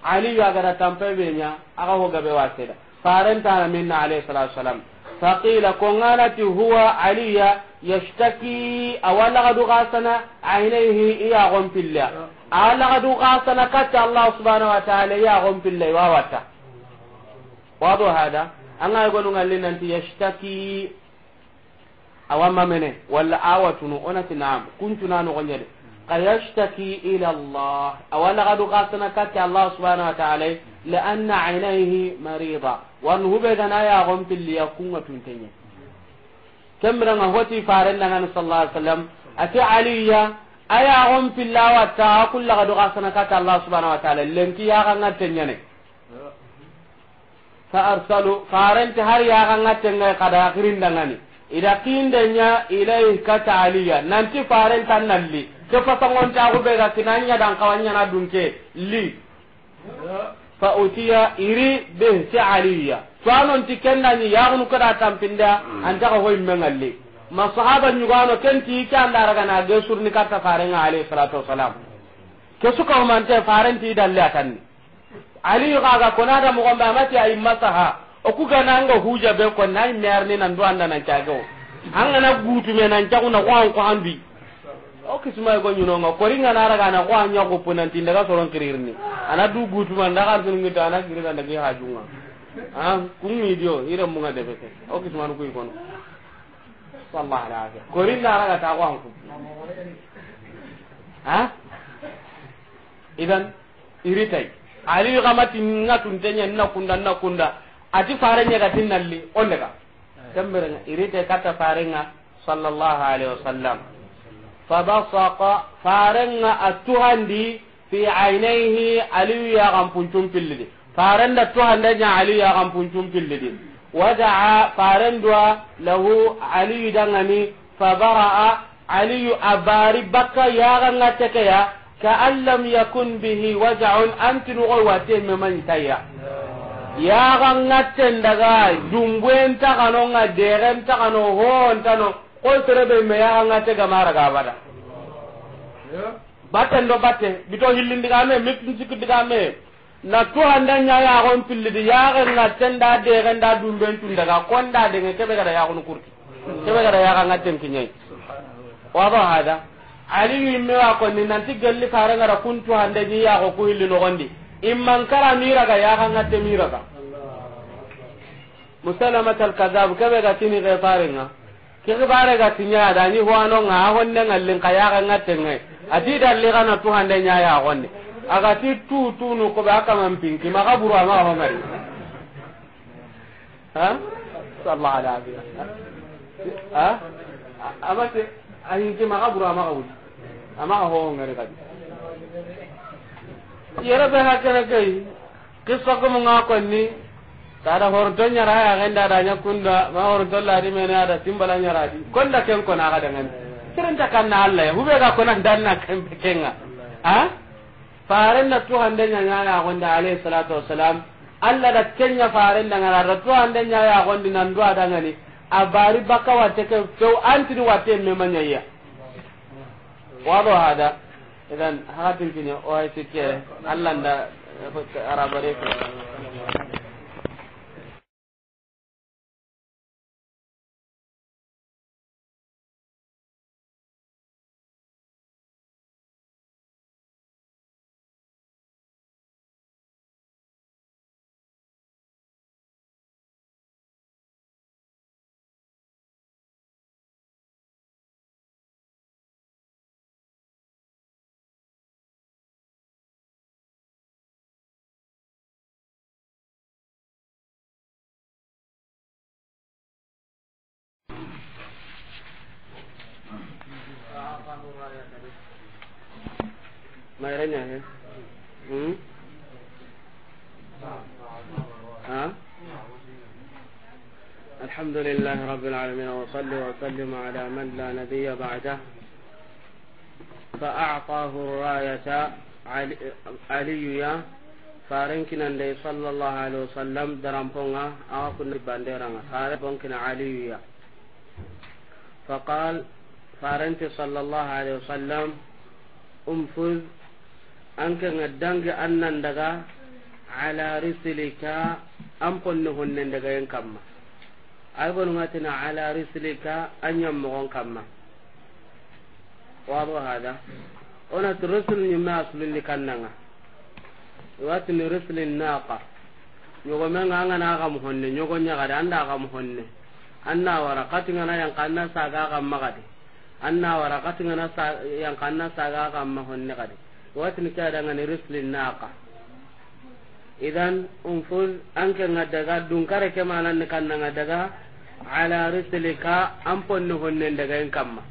Ali ya gara tampe be ɲa, aga ho gabe waseda. Faranta na minna alayhi salatu wasalam. Faqila, ko nganati huwa Aliya yashtaki, awala gadu gasana, aynayhi, iya gon pilla. Awala gadu gasana katta Allah subhanahu wa ta'ala, iya gon pilla, wa wata. Wado hada, anga gonu ngalli nanti yashtaki. Awa mamene, walla awa tunu, onati naam, kuntu na no gonyede. Ka yashtaki ila Allah. Awala gadu gasana katta Allah subhanahu wa ta'ala, la anna aynayhi marida. Wan hube gana ya gon pilli ya kunga tuntenye. Kembra nga hoti faren dangan sallallahu alaihi wasallam. Ati Aliya, aya gon pilla wata, kulla gadu gasana katta Allah subhanahu wa ta'ala. Lenki ya ga ngatenyane. Fa arsalu, farenti har ya ga ngatenga kada kirin dangani. Ida kinde nya ilayhi kata Aliya. Nanti farenta nalli. Ke fasangon ta ku be ga kinanya dan kawanya na dunke. Li. Fa utiya iri be ti Aliya. To anon ti kenda ni ya gunu kada tampinda, anta ko hoy mengalle. Ma sahaba nyugano kenti kanda raga na ge surni katta farenga alayhi salatu wasalam. Ke suka umante farenti dalle atanni. Ali ga ga kona da mo gombe amati ay masaha. O ku gana nga huja be ko nay merni nan do anda nan cago. Anga na gutu me nan cago na ko an ko andi. O kisma go nyuno nga kori nga na raga na ko anya ko punan tinda ga soron kirirni. Ana du gutu man da ga sun ngita na kirira da ge hajunga. Ah, kun mi dio ira munga de beke. O kisma ku kono. Wallahi la. Kori na raga ta ko an ko. Ha? Idan, iri tay. Ali ga mati nga tuntenya na kunda, na kunda. Ati farenya ga tin nalli, on daga. Kembere nga, iri tay katta farenga, sallallahu alaihi wasallam. Fa basaqa, farenga atuhandi fi aynayhi, Aliyu ya gan puncun pillidi. Farenda tuhanda nya Aliyu ya gan puncun pillidi. Wada'a, farendua lahu, Aliyu dangani, fa bara'a, Aliyu a bari bakka yaxa ŋatte ke ya, ka an lam yakun bihi waja'un, an tinu xoy wate me man taya. Yaxa ŋatten daga, dumbuen taxano ŋa, dexen taxano, hoon tano, xoy sere be me yaxa ŋatte ga mara ga bada. Batten do batte, bito hillin diga me, mitin sik diga me, Na tuhanda ɲa yaxon pillidi, yaxen ŋatten da dexen da dumben tun daga, kon da denge kebe gada yaxunu kurti. Kebe gada yaxa ŋatten kiɲayi. Wado hada. Aliyu yimme wa konni nanti gelli fare nga da kuntu hande ni ya ko ku hilli nogondi. Imman kara miraga ya ga ngatte miraga. Musailamatal Kazzab kebe ga tini ke fare nga. Ke fare ga tinya da ni ho ano nga a honne nga lin ka ya ga ngatte nga. Ati dalli ga na tu hande nya ya honne. Aga ti tu tu no ko ba ka man pinki ma ga buru ama ho ngari. Ha? Sallallahu alaihi wasallam. Ha? Amate ayin ke ma ga buru ama ga wuli. Ama ga ho ngari kadi. Yere be hakana kai. Kissa ko mo nga konni. Tada horto nyara ya genda da nya kunda ma horto la di mena da timbala nyara di. Konda ken kona ga dangan. Seren ta kanna Allah ya. Hube ga kona danna ken kenga. Ha? Faren na tu hande nya nya ya gonda alayhi salatu wassalam. Allah da kenya faren da ngara da tu hande nya ya gondi nan duwa da ngani. A bari baka watte ke few antini watte me manya ya. Wado hada. Idan hakatin kini o ay sikke Allah nda arabare ko. Mayranya he. Hmm? Ha? الحمد لله رب العالمين، وصل وسلم على من لا نبي بعده. فأعطاه الراية علي، علي يا فارن كنان صلى الله عليه وسلم درامبونغا أو كن بانديرانغا فارن كنا علي يا. فقال فارنت صلى الله عليه وسلم انفذ أنك ندنج أن ندغا على رسلك أنفن هن ندغا ينكما. Ay gonu ŋa tini ala rislika, a ɲammoxon kamma. Wado hada. O na ti risl ɲimme a sulindi kannaŋa. I wa tini risli naqa. Ɲogome ŋa, a ŋa na a gamu honne, ɲogo ɲaxade, an da a gamu honne. An na wara, kati ŋa na yanqa, an na saga a gamma xadi. An na wara, kati ŋa na sa-, yanqa, an na saga a gamma honne xadi. I wa tini ke a da ŋa ni risli naqa. Idan, unfuz, an ke ŋa daga, dunkare ke manan ni kanna ŋa daga, ala rislika, an ponne honne daga in kamma.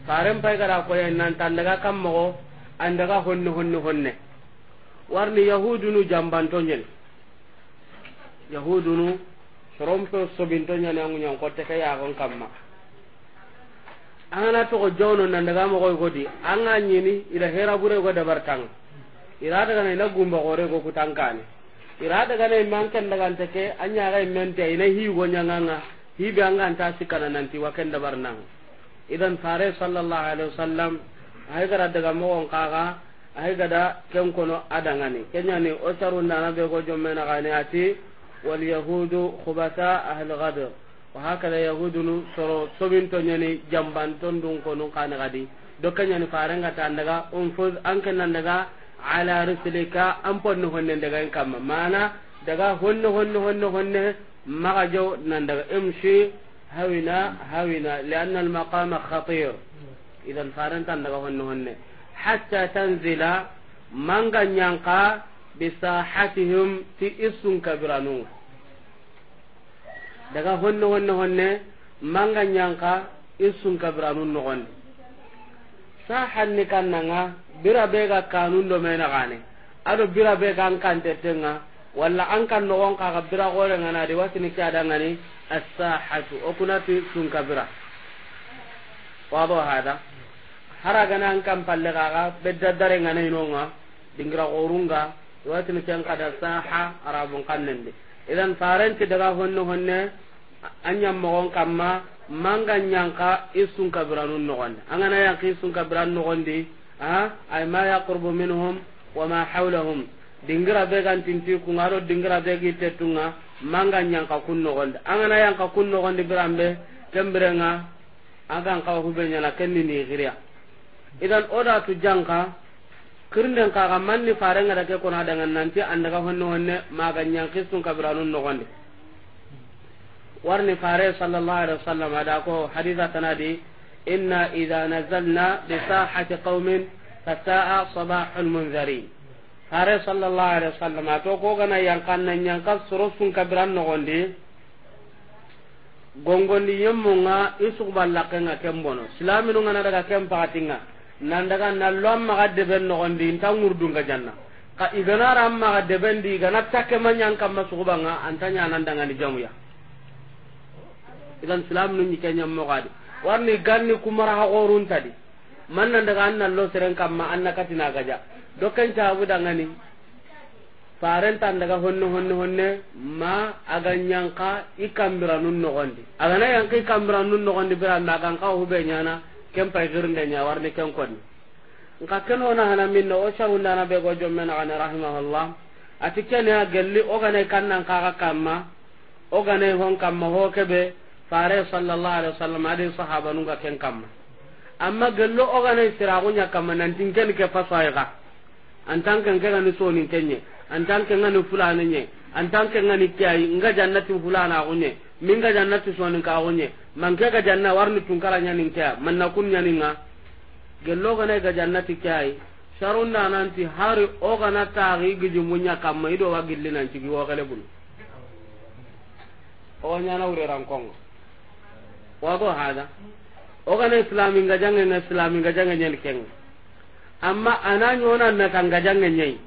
Faren pay gara koye nan tan daga kamma go, an daga honne, honne, honne. Warni Yahudunu jambanto ɲen. Yahudunu, sorompe sobinto ɲani an ŋuɲan kotte ke yaxon kamma. An ga na toxo jawno nan daga moxoy godi, an ga ɲini, i da hera bure go dabartaŋa. I ra daga na i na gumba gore go kutankane. I ra daga na i man ken daga nteke, an ɲaga i mente, i na hi go ɲaŋaŋa, hi be an ga nta sikana nanti wa ken dabarnaŋa. Idan fare sallallahu alaihi wasallam, ay gara daga moxon kaga, ay gada ken kono a da ŋa ni. Ken ɲa ni o sarundana be go jomme na gane a ti, wal yahudu khubasa ahli ghadr. Wa hakada yahudunu soro sobinto ɲani jambanton dun konun kani gadi. Do ken ɲa ni faren ga ta an daga, unfuz an ken nan daga, ala rislika an ponne honne daga in kamma. Mana daga honne, honne, honne, honne, maxa jaw nan daga imshi, hawina, hawina, li anna al maqama khatir. Idan faren tan daga honne, honne. Hatta tanzila, manga ɲanka, bi sahatihim, ti i sun kabiranun ŋa. Daga honne, honne, honne, manga ɲanka i sun kabiranun noxondi. Sahan ni kannaŋa, bira be ga kanun do me na gane. Ado bira be ga an kantettenŋa, walla an kan noxon kaga bira gore ŋa na di wa tini ke a da ŋa ni, as-sahatu, o kuna ti sun kabira. Wado hada. Hara gana an kan palle kaga, bedda dare ŋa na i noŋa, dingira gorunga, I wa tini ken kada saha Arabun kannen di. Idan faren ti daga honne honne, a ɲammoxon kamma, manga ɲanka i sun kabiranun noxondi. An ga na yanka i sun kabiranun noxondi, a, ay ma yaqrubu minhum wa ma hawlahum. Dingira be ga nti ti kun ŋa do dingira be gi tettunŋa, manga ɲanka kun noxondi. An ga na yanka kun noxondi biranbe, ken birenŋa, an ga n kawa hube ɲana ken ni Nigeria. Idan o da tu janka, kirnden kaga manni fare nga da ke kona dangan nanti an daga honne honne maga ñanki sun kabiranun nogondi. Warni fare sallallahu alaihi wasallam ada ko haditha tanadi, "Inna idha nazalna bi sahati qaumin fa sa'a sabahul munzirin." Fare sallallahu alaihi wasallam ato ko gana yankan na ñanka soro sun kabiran nogondi. Gongondi yemmo nga i sugu ballakke nga ken bono. Silaminu nga na daga ken pakatinga. Nan daga na lo amma ga deben nogondi inta ngurdu nga janna. Ka igana ra amma ga deben di igana takke manyan kamma sugu banga anta ñanan dangani jamuya. Idan silaminu ñi ken ñammo gadi. Warni ganni kumara ha gorun tadi. Man nan daga anna lo seren kamma anna katina gaja. Dokken cabu dangani. Faren tan daga honne honne honne ma aga ñanka i kambiranun nogondi. Agana yanka i kambiranun nogondi biran da agan ka hube ñana ken pay girnde ña warni ken konni. Nka ken ona hana minno o sharundana be go jomme na gane rahimahullah. Ati ken ya gelli o gane kannan kaga kamma. O gane hon kamma ho kebe fare sallallahu alaihi wasallam adi sahabanun ga ken kamma. Amma gello o gane siragunya kamma nan tinken ke faso ay ga. En tant que nke gani soninke ñe, en tant que ngani fulane ñe, en tant que ngani ke ay nga jannati fulana ko ñe, min ga jannati soninka ko ñe, man ke ga janna warni tunkara ñani nke ya manna kun ñani nga. Gello gana ga jannati ke ay. Sharunda nanti hari o gana tagi giji munya kamma ido wa gilli nan cigi wo gele bulu. O ñana wure ran kongo. Wado hada. O gana islami nga jange nga islami nga jange ñen kenga. Amma ana ñona na kan nga jange ñai.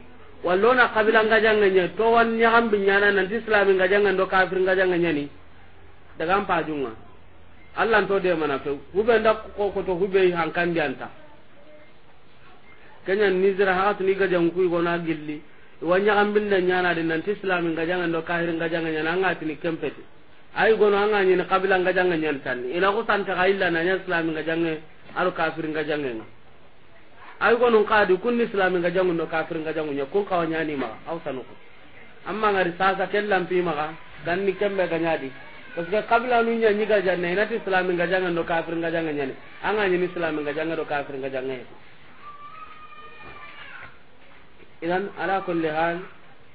Wallo na kabila nga jange ñai to wan ñagam bi ñana nanti islami nga jange ndo kafir nga jange ñani. Daga am pajunga. Allah to de mana few. Hube nda ko ko to hube hankan dianta. Kenya nizira hakatu ni gajan kuy gona gilli. Wa ñagam binda ñana de nanti islami nga jange ndo kafir nga jange ñana nga tini kempeti. Ay gono anga ñini kabila nga jange ñen tanni. Ina ko santa ga illa na ña islami nga jange alo kafir nga jange nga. Ay gono qadi kun islami nga jangu no kafir nga jangu ña kun kawa ñani ma aw sanuko. Amma ngari sasa kellan pi maga ganni kembe ga ñadi. Parce que kabila nu ña ñi ga janne inati islami nga jange no kafir nga jange ñani. Anga ñini islami nga jange do kafir nga jange. Idan ala kulli hal.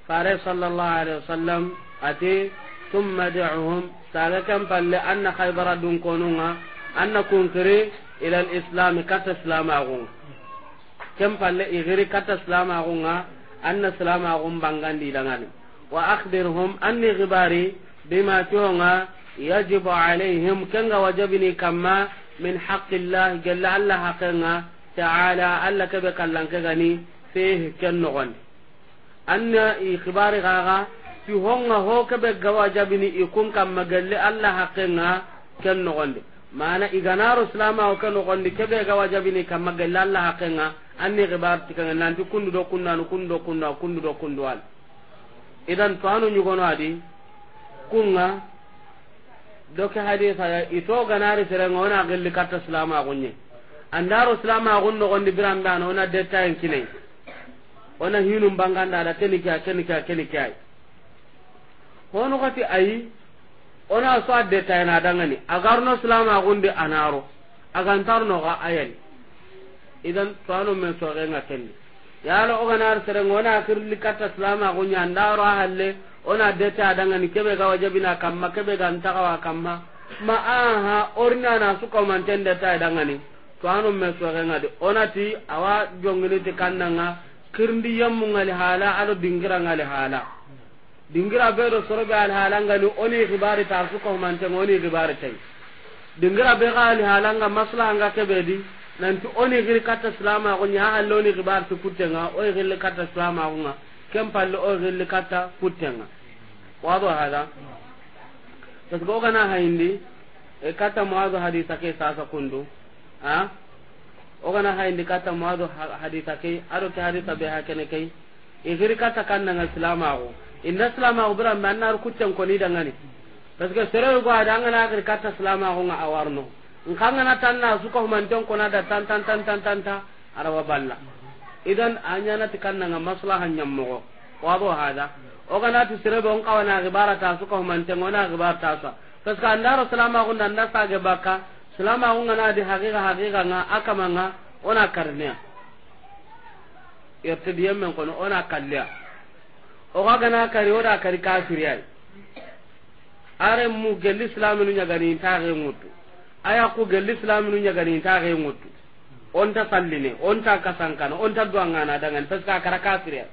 Fare sallallahu alaihi wasallam ati, "Thumma da'uhum," saga ken palle anna Khaybara dun konunga, anna kunkiri ila al-islam kata islamagunga. Ken palle igiri kata islamagunga, anna islamagun bangandi dangani. Wa akhbirhum anni gibari bima tonga yajibu alaihim kenga wajabini kamma min haqqillah gella Allah haqqenga ta'ala Allah kebe kallanke gani fihi ken nogondi. Anna i xibari gaga ti honga ho kebe gawa jabini i kun kamma gelle Allah haqqenga ken nogondi. Mana i ganaro silama o ken nogondi kebe gawa jabini kamma gelle Allah haqqenga anni xibar tikanga nanti kundu do kundanu kundu do kundu kundu do kundu al. Idan to anu ñugono adi kunga. Doke hadisa ya ito ganari serenga ona gelli katta silama gunye. Andaro silama gun nogondi birandana ona detayen kinai. Ona hinum banganda da keni kya keni kya keni kya. Hono kati ayi. Ona so a detayen adangani agarno silama gundi anaro. Agantarno ga ayani. Idan to anu men so genga kendi. Yala o ganar serenga ona kirli katta silama gunya ndaro halle. Ona deta dangani kebe ga wajabina kamma kebe ga ntagawa kamma. Ma aha orina na suka manten deta dangani. To anu me so genga de onati awa jongini ti kannanga. Kirndi yammu ngali hala ado dingira ngali hala. Dingira be do sorobe al hala ngani oni xibari ta suka manten oni xibari tay. Dingira be ga ali halanga maslaha nga kebe di. Nanti oni giri katta silama ko nya hallo ni gibar tu kutenga o giri katta silama ko nga. Kem palle o giri katta kutenga. Wado hada. Parce que o gana hayndi e katta muazu hadisa ke sasa kundu. Ha? O gana hayndi katta muazu hadisa ke aro ke hadisa be hakene kai. I giri katta kannanga silamaxu. Inda silamaxu biran be anna ri kuccen koni dangani. Parce que sere yugo adi angana giri katta silamaxu nga awarno. Nkangana tanna suka humanten kona da tan tan tan tan tan ta. Arawa balla. Idan anyana ti kannanga maslaha nyammogo. Wado hada. O gana ti sere be on kawana gibara ta suka humanten ona gibara ta sa. Parce que andaro silamaxu nda nda sage baka. Silamaxu ngana di haqiqa haqiqa nga akamanga. O na karineya. Yertedi yemmen kono, o na kalleya. O ga gana kari, o da kari kafiriyai. A renmu gelli silaminu ɲagani, i nta xe ŋuttu. A yaxu gelli silaminu ɲagani, i nta xe ŋuttu. O nta salline, o nta kasankana, o nta duwangana dangani, parce que a kara kafiriyai.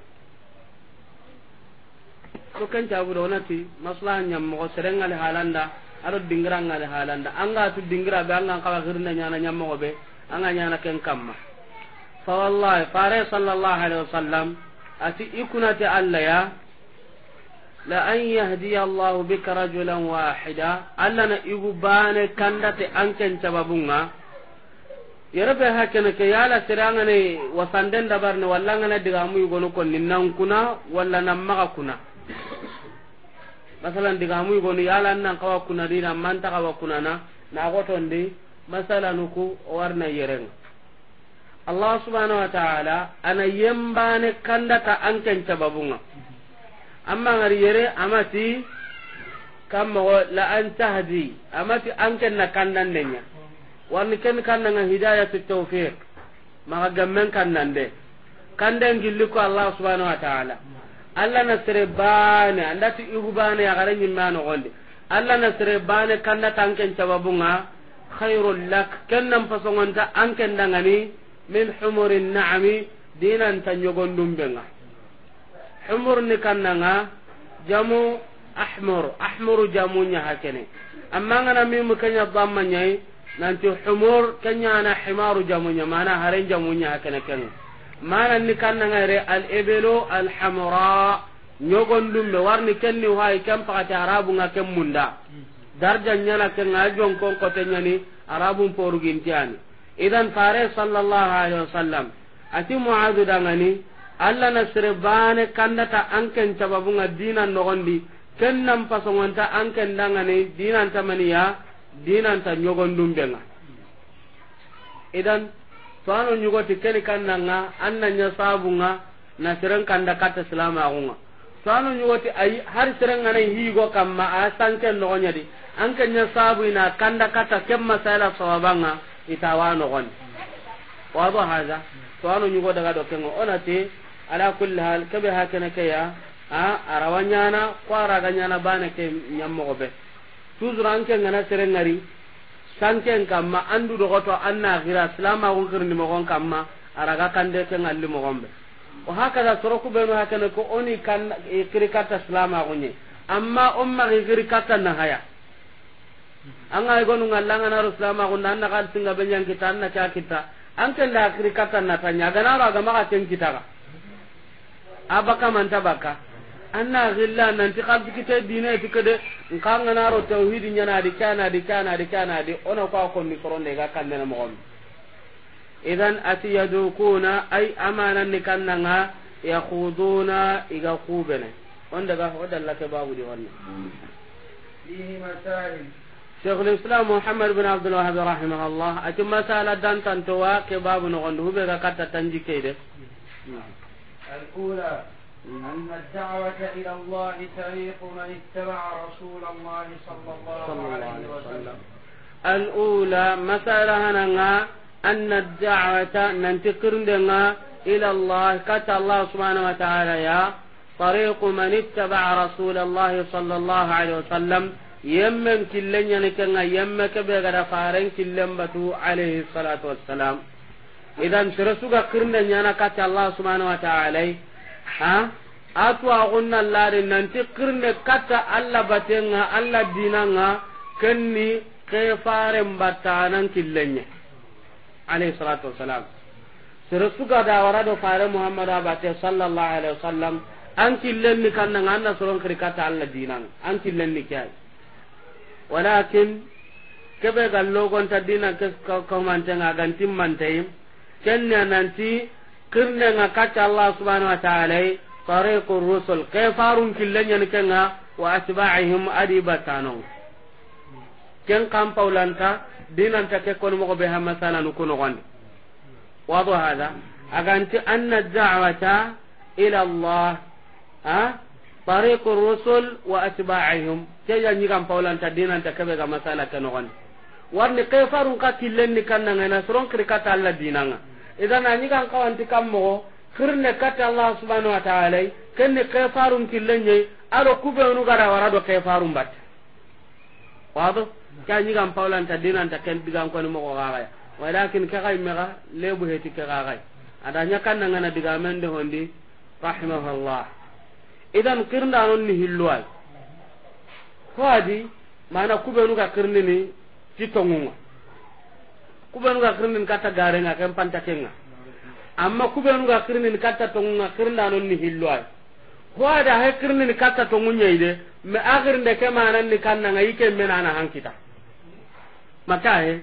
Ko ken cabu do, o na ti maslaha ɲammoxo, seren ŋa li halanda, a do dingira ŋa li halanda. An ga tu dingira be, an ga n xawa xirinde ɲana ɲammoxo be, an ga ɲana ken kamma. Fa wallahi, Fare sallallahu alaihi wasallam a ti, i kuna ti Alla ya, la an yahdiya Allahu bika rajulan wahida, Alla na yugu bane kanda ti an ken sababun ŋa. Yere be hakene ke, yala sere an ga na wasanden dabarini, walla an ga na digamu yugono konni, nan kuna, walla nan maxa kuna. Masalan, digamu yugono, yala an nan xawa kuna di, nan man ta xawa kuna na, na xotondi, masalan, ku o wari na yere ŋa. Allah subhanahu wa ta'ala a na yembane kanda ta an ken sababun ŋa. Amma ngari yere a ma ti, kammoxo, la an tahdi, a ma ti an ken na kandande ɲa. Warni ken kanda ŋa hidayatu tawfiq, maxa gammen kandande. Kanden gilli ko Allah subhanahu wa ta'ala. Allah na sere bane, an da ti yugu bane yaxare ɲimme a noxondi. Allah na sere bane kanda ta an ken sababun ŋa, khairul lak, ken nan pasongonta an ken dangani, min humurin na'ami, dinan ta ɲogondun be ŋa. Humur ni kanna ŋa, jamu ahmur, ahmuru jamu ɲa hakene. Amma an ga na mimu ke ɲa damma ɲa yi, nan ti humur, ken ɲa na himaru jamu ɲa, mana haren jamu ɲa hakene ken ŋa. Mana ni kanna ŋa yere al ibilu al hamra, ɲogondun be, warni ken ni hayi, ken paxati Arabu ŋa ken munda. Darja ɲa na ken ŋa, jonkon xote ɲa ni, Arabun poruginti ya ni. Idan Fare sallallahu alaihi wasallam a ti Mu'azu dangani, Allah na sere bane kanda ta an ken sababun ŋa dinan noxondi, ken nan pasongonta an ken dangani dinan ta maniya, dinan ta ɲogondun be ŋa. Idan, to a no ɲugo ti ken ni kanna ŋa, an na ɲa sababun ŋa, na seren kanda katta silamaxun ŋa. To a no ɲugo ti ayi, har seren ga na hi yugo kamma, a sanken noxo ɲa di. An ken ɲa sabu i na kanda katta ken masala sababan ŋa, i ta wa noxondi. Wado haza, to a no ɲugo daga do ken ŋa, o na ti, ala kulli hal, kebe hakene ke ya, a, a rawa ɲana, ko a raga ɲana bane ke ɲammoxo be. Toujours an ken ga na sere ŋari, sanken kamma, an du doxoto, an na xira, silamaxun xirindi moxon kamma, a raga kande ke ŋalli moxon be. O hakada soro ku benu hakene ko o ni kan, i xiri katta silamaxu ɲe. Amma o ma xi xiri katta na haya. An ga i gonu ŋalla an ga na ro silamaxun da, an na xalisi ŋa be ɲan kita, an na ke a kita. An ken da xiri katta na ta ɲa, a ga na ro a ga maxa ken kita ga. A baka manta baka. An na xilla nan ti xalisi kite dina ti kede, n xa an ga na ro tawhidi ɲa na di, ke na di, ke na di, ke na di, o na ko a konni soronde ga kandene moxon. Idan a ti yadukuna, ay amanan ni kanna ŋa, yakhuduna, i ga kubene. On daga o dalla ke babu di wonni. فيه مسائل. Sheikhul Islam Muhammad bin Abdul Wahhab rahimahullah, a ti masala dantanto wa ke babu noxondi, hube ga katta tanji ke de. الأولى، أن الدعوة إلى الله طريق من اتبع رسول الله صلى الله عليه وسلم. الأولى، masala hananga, أن الدعوة، nanti kirinde nga, إلى الله، katta Allah subhanahu wa ta'ala ya, طريق من اتبع رسول الله صلى الله عليه وسلم، yemmen killen ɲani kenga, yemme kebe gada faren killen batu, alayhi salatu wassalam. Idan, sere su ga kirinde ɲana katta Allah subhanahu wa ta'ala, ha? A tu a gunna lari nanti kirinde katta Allah batenga, Allah dinanga, kenni ke faren battanan killenye. Alayhi salatu wassalam. Sere su ga da wara do fare Muhammad abate sallallahu alayhi wasallam, an killen ni kannanga, an na soron kiri katta Allah dinanga, an killen ni kiyai. Walakin, kebe ga logonta dina ke ka-, kahumantenga, a ga ntimmantei, kenya nanti, kirnenga katta Allah subhanahu wa ta'ala, tariqur rusul, ke farun killen ɲani kenga, wa atba'ihim, adi battanonga. Ken kan paulanta, dinanta ke koni mogo be ha masala nu kuno gonde. Wado hada, a ga nti anna da'wata ila Allah, ha? Tariqur rusul wa atba'ihim. Ke ya ɲi kan paulanta dinanta kebe ga masala ke no gonde. Warni ke farun ka killen ni kannanga na soron kiri katta Allah dinanga. Idan a ɲi ga n xawanti kan moxo, xirinde katta Allah subhanahu wa ta'ala, ken ni kefarun killen ɲa yi, a do ku benu ga da wara do kefarun batte. Wado? Ke a ɲi ga n pawlanta dinanta ken digan koni moxo ga ga ya. Walakin ke ga yi me ga, lebu heti ke ga ga yi. A da ɲa kan na ŋa na digamen de hondi, rahimahullah. Idan xirindanon ni hillu wa yi. Ko a di, mana ku benu ga xirindini ti tonŋun ŋa. Ku benu ga xirindini katta garen ŋa, ken panta ken ŋa. Amma ku benu ga xirindini katta tonŋun ŋa, xirindanon ni hillu wa yi. Ko a da hay xirindini katta tonŋun ɲa yi de, mais a xirinde ke manan ni kan na ŋa, i ke me na na hankita. Maka he.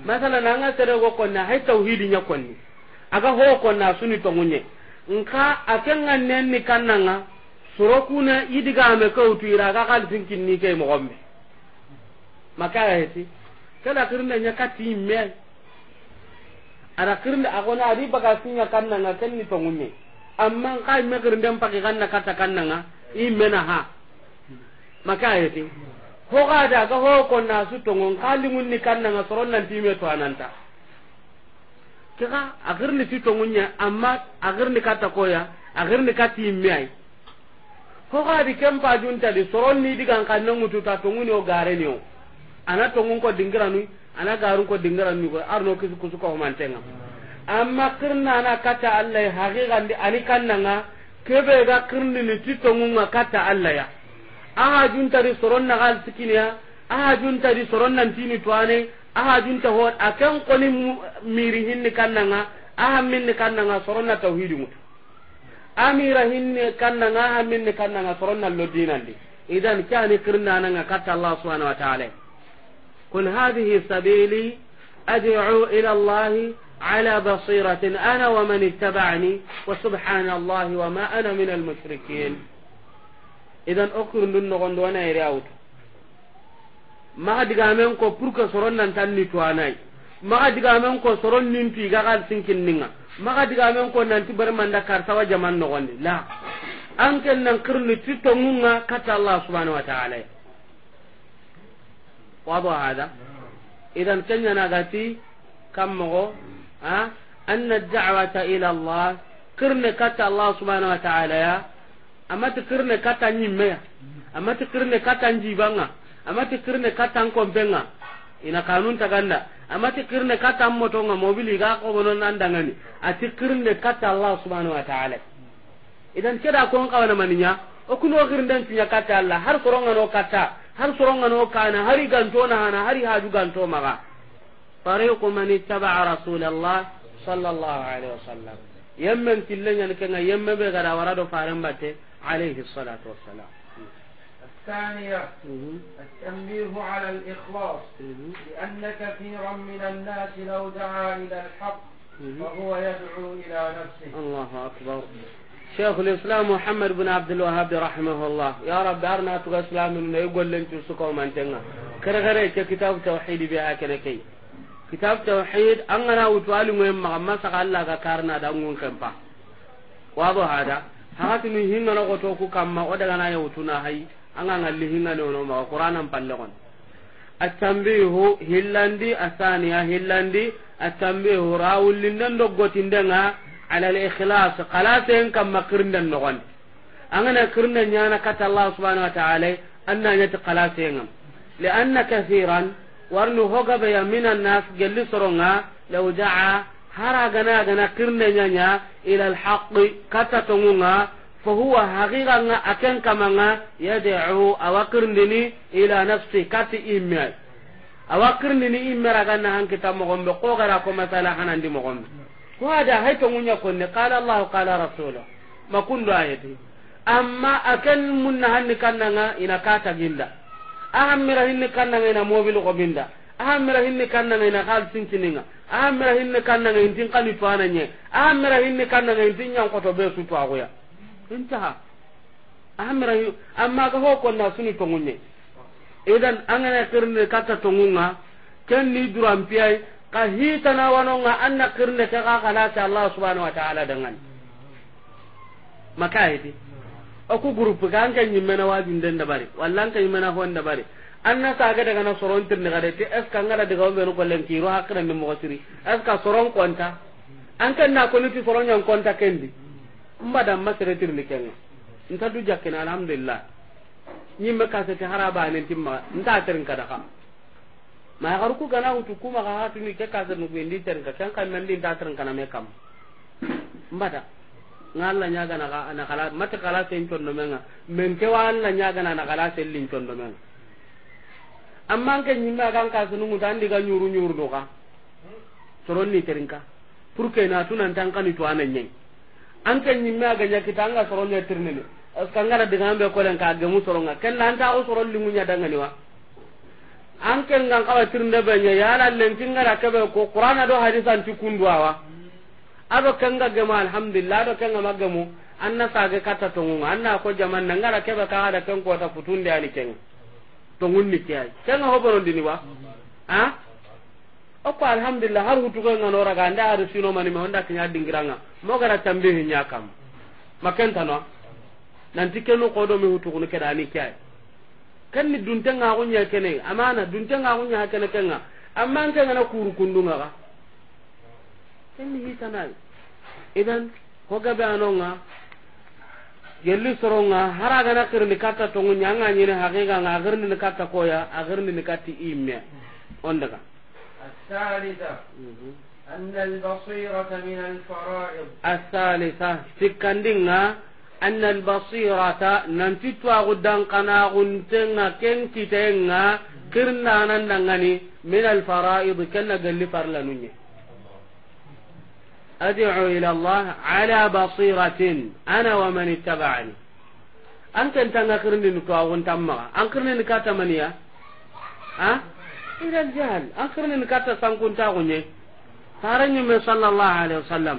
Masala na ŋa sere go konna, hay tawhidi ɲa konni. A ga ho konna su ni tonŋun ɲa. Nka a ken ŋa nen ni kan na ŋa, soro ku na i digame ke wutu i ra ga xalisin kinni ke moxo be. Maka ya heti. Ke da xirinde ɲa katti me. A da xirinde a gona a di baga siɲa kan na ŋa ken ni tonŋun ɲa. Amma nka me xirinde n paki kan na katta kan na ŋa, i me na ha. Maka ya heti. Ho ga da ga ho konna su tonŋun, xalimun ni kan na ŋa, soron nan ti me to ananta. Ke ga a xirindi ti tonŋun ɲa, amma a xirindi katta ko ya, a xirindi katti me ay. Ko ga di ken pajunta di, soron ni digan kan na ŋutu ta tonŋuni o gareni o. A na tonŋun ko dingiranu, a na garun ko dingiranu ko, arno kisu kusu ko mantenga. Amma xirindana katta Allah, haqiqan di a ni kan na ŋa, ke be ga xirindini ti tonŋun ŋa katta Allah ya. A hajunta di soron na gal sikiniya, a hajunta di soron nan ti ni tuwane, a hajunta ho, a ken koni mu-, miri hinni kan na ŋa, a hamminni kan na ŋa, soron na tawhidi ŋutu. A mira hinni kan na ŋa, a hamminni kan na ŋa, soron na lo dinandi. Idan ke a ni xirindana ŋa katta Allah subhanahu wa ta'ala. قل هذه سبيلي أدعو إلى الله على بصيرة أنا ومن اتبعني وسبحان الله وما أنا من المشركين. Idan o xirindun noxon do wa na yere a wutu. Maxa digamen ko pour que soron nan tan ni tuwanai. Maxa digamen ko soron nin tu i ga xalisin kinni ŋa. Maxa digamen ko nan ti bari manda karta wa jaman noxon di. La. An ken nan xirindi ti tonŋun ŋa katta Allah subhanahu wa ta'ala. Wado hada. Idan ken ɲa na ga ti kan moxo, ha, anna ad-da'wata ila Allah, xirinde katta Allah subhanahu wa ta'ala ya, a ma ti xirinde katta ɲimme ya, a ma ti xirinde katta n jiban ŋa, a ma ti xirinde katta n kompen ŋa, i na kanun taganda, a ma ti xirinde katta n moton ŋa, mobili ga ko bono nan dangani, a ti xirinde katta Allah subhanahu wa ta'ala. Idan ke da ko n xawana mani ɲa, o kuno xirinden tu ɲa katta Allah, har soron ŋa no katta, har soron ŋa no kana, har i ganto na hana, har i haju ganto maxa. طريق من اتبع رسول الله صلى الله عليه وسلم. Yemmen kille ɲa ni ken ŋa, yemme be ga da wara do faren batte, alayhi salatu wassalam. الثانية، mhm, التنبيه على الإخلاص، mhm, لأن كثيرا من الناس لو دعا إلى الحق، mhm، فهو يدعو إلى نفسه. Allahu akbar. Sheikhul Islam Muhammad bin Abdul Wahhab rahimahullah. Ya Rabbi, arna tuga Islaminu na i gollen cu su ko manten ŋa. Kere kere ke kitab tawhid be ha kene kay. Kitab tawhid, an ga na wutu ali ngoy ma, masa Allah ga karna da ngun kempa. Wado hada. Hakati ni hinga no ko to ku kamma, o daga na ya wutu na hay. An ga ngalli hinga no no ma Qur'anan palle kon. At-tanbihu hillandi, athaniya hillandi, at-tanbihu rawullinden do gotinden ŋa, ala al-ikhlas, xalasen kamma xirinden noxon di. An ga na xirinde ɲana katta Allah subhanahu wa ta'ala, an na ɲa ti xalasen ŋa. Li anna kathiran, warnu hogabe ya, minan nas, gelli soron ŋa, law da'a, hara gana gana xirinde ɲaɲa, ila al-haqqi, katta tonŋun ŋa, fa huwa, haqiqa ŋa, a ken kama ŋa, yad'u, a wa xirindini, ila nafsi, katti i me ay. A wa xirindini i me ra ga na hankita moxon be, ko ga ra ko masala hanandi moxon be. Ko hada hay tonŋun ɲa konne, qala Allah, qala rasulu. Ma kundu ayati. Amma a ken munna hanni kanna ŋa, i na katta ginda. A hammira hinni kanna ŋa, i na mobil ko binda. A hammira hinni kanna ŋa, i na xalisin kini ŋa. A hammira hinni kanna ŋa, i ntin kani tuwana ɲe. A hammira hinni kanna ŋa, i ntin ɲan koto be su tuwaxuya. Intaha. A hammira hi-, amma ga ho konna su ni tonŋun ɲa. Idan an ga na xirindi katta tonŋun ŋa, ken ni duran piyai, ka hitana wanon ŋa, an na xirinde ke ga xalasi Allah subhanahu wa ta'ala dangan. Maka hiti. O ku groupe ga an ke ɲimme na wajunden dabari, walla an ke ɲimme na hon dabari. An na saga daga na soron tirni ga de, te est-ce que an ga da daga o menu ko len kiro hakkilandi moxo siri? Est-ce que soron konta? An ken na koni ti soro ɲa n konta ken di. N bada ma sere tirindi ken ŋa. N ta du jakkina, alhamdulillah. Ɲimme kase ti haraba nen timma, n ta terin ka daga. Ma yaxaru ku ga na wutu ku maxa, xa tini ke kase nugu indi terin ka, ken xa men di n ta terin ka na me kam. N bada. Ŋa Alla ɲaagana xa, na xala, mate xala sen condomen ŋa. Men ke wa Alla ɲaagana na xala sen lin condomen ŋa. Amma an ke ɲimme a ga n kase nugu ta n di ga ɲuru ɲuru do xa. Soron ni terin ka. Pour que na tu nan tan kani to a na ɲi. An ke ɲimme a ga ɲa kita an ga soro ɲa tirnini. Est-ce que an ga ra diga an be ko len ka gemu soron ŋa. Ken da an ta ko soron lingu ɲa dangani wa. An ke n ga n xawa tirnde be ɲa, yala lenki n ga ra kebe ko Qur'ana do hadisan ti kundu wa. A do ken ga gemu, alhamdulillah, a do ken ga ma gemu. An na sage katta tonŋu ŋa, an na ko jaman na n ga ra kebe ka da ken ko ta futunde ani ken. Tonŋun ni ke ay. Ken ga ho bonon dini wa. Ha? O ko, alhamdulillah, har hutu ko ŋa no raga, nda har sino mani me, o nda kiɲa dingira ŋa. Mo ga ra tambihi ɲa kam. Ma ken ta no. Nanti kenu ko do mi hutu kunu ke da ni ke ay. Ken ni dunte ŋa ko ɲa kene, amana dunte ŋa ko ɲa kene ken ŋa. Amma an ke ŋa na kuru kundu ŋa ga. Ken ni hitana. Idan, ko gabe a no ŋa. Gelli soro ŋa, hara ga na xirindi katta tonŋu ɲa ŋa ɲi ne haqiqa ŋa, a xirindi ni katta koya, a xirindi ni katti imme. On daga. الثالثة، أن البصيرة من الفرائض. الثالثة، sikkandi ŋa, أن البصيرة، nanti tuwaxu dankanaxunte ŋa, ken kite ŋa, xirindana ndangani, من الفرائض، ken na gelli farlanu ɲa. أدعو إلى الله على بصيرة أنا ومن اتبعني. An ken ta ŋa xirindini tuwaxun tammaxa. An xirindini katta maniya? Ha? إلى الجهل. An xirindini katta sankuntaxu ɲa. Fare ɲimme sallallahu alayhi wasallam.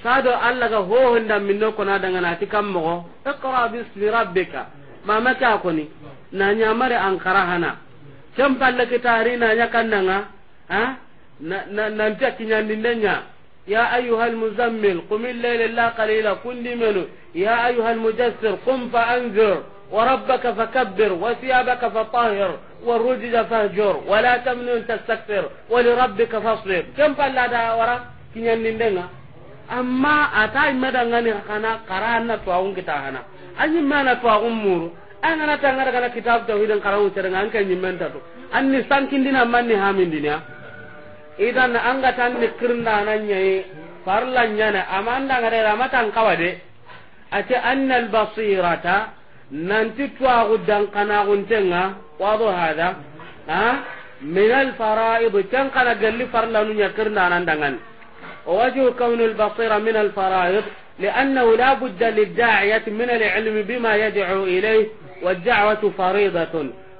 Sado Alla ga hoho nda minno kona dangana ti kam moxo. اقرأ باسم ربك. Mama ke a koni. Na ɲamare an xara hana. Ken palle kitari na ɲa kannanga. Ha? Na, na, nanti a kiɲandinde ɲa. يا أيها المزمل، قم الليل إلا قليلا، kun di menu. يا أيها المدثر، قم فأنذر، وربك فكبر، وثيابك فطهر، والرجز فاهجر، ولا تمنن تستكثر، ولربك فاصبر. Ken palla da wara kiɲandinde ŋa. Amma a ta imme dangani xana xara na tuwaxun kita hana. A ɲimme na tuwaxun muru. An ga na tangara gana kitab tawhidin xaranŋu sere ŋa, an ke ɲimmen ta to. An ni sankindina, man ni hamindina. Idan an ga tan ni xirindana ɲa yi, farla ɲa na, amma an da ga re ra ma tan kawa de. A ti أن البصيرة، nanti tuwaxu dankanaxunte ŋa, واضح هذا؟ Ha? من الفرائض، ken xa na gelli farlanu ɲa xirindana ndangani. ووجه كون البصيرة من الفرائض، لأنه لا بد للداعية من العلم بما يدعو إليه، والدعوة فريضة،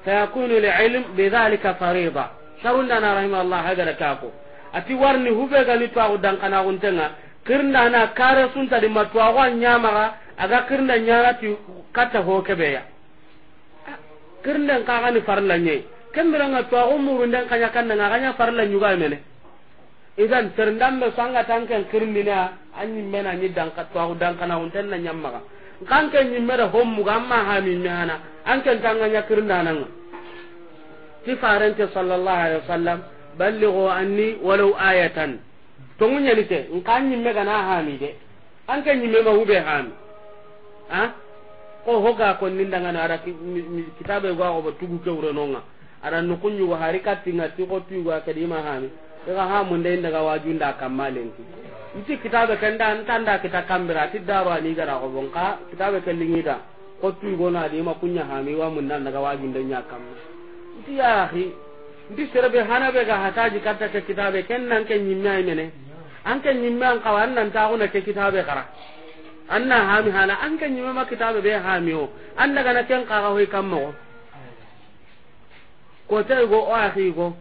فيكون العلم بذلك فريضة. Sarundana rahimahullah hagara kako. A ti warni hube gani tuwaxu dankanaxunte ŋa, xirindana kare sunta di ma tuwaxu a ɲamaxa, a ga xirinda ɲana ti katta ho kebeya. Xirinden xa ga ni farla ɲa yi. Ken bire ŋa tuwaxu murunden xa ɲa kannanga, a ga ɲa farla ɲuga mene. Idan, sere nda me so an ga tan ken xirindini, a ɲimme na ɲi danka, tuwaxu dankanaxunten na ɲammaxa. N xa n ke ɲimme da hommu ga, amma hami me hana, an ken tanga ɲa xirindana ŋa. Ti farente sallallahu alayhi wasallam, بلغوا عني ولو آية. Tonŋu ɲa ni ke, n xa ɲimme ga na hami de. An ke ɲimme ma hube hami. Ha? Ko hoga ko ninda ŋa na ara ki-, mi-, mi-, kitabe go a go ba tugu ke wure no ŋa. Ara no kunyu go hari katti ŋa ti ko tu go a ke di ma hami. I ga hamu nde inda ga waju nda kamma lenki. Nti kitabe ke nda, nta nda kita kambira, ti daro ani ga ra go bon ka, kitabe ke lingi da. Ko tu go na di ma kunya hami wa mun nda ga waju nda ɲa kamma. Nti ya akhi, nti sere be hana be ga hataji katta ke kitabe, ken nan ke ɲimme ay mene. An ke ɲimme an kawa, an nan taxu na ke kitabe xara. An na hami hana, an ke ɲimme ma kitabe be hami o. An daga na ken xaxa hoy kammo. Ko tay go o axi go.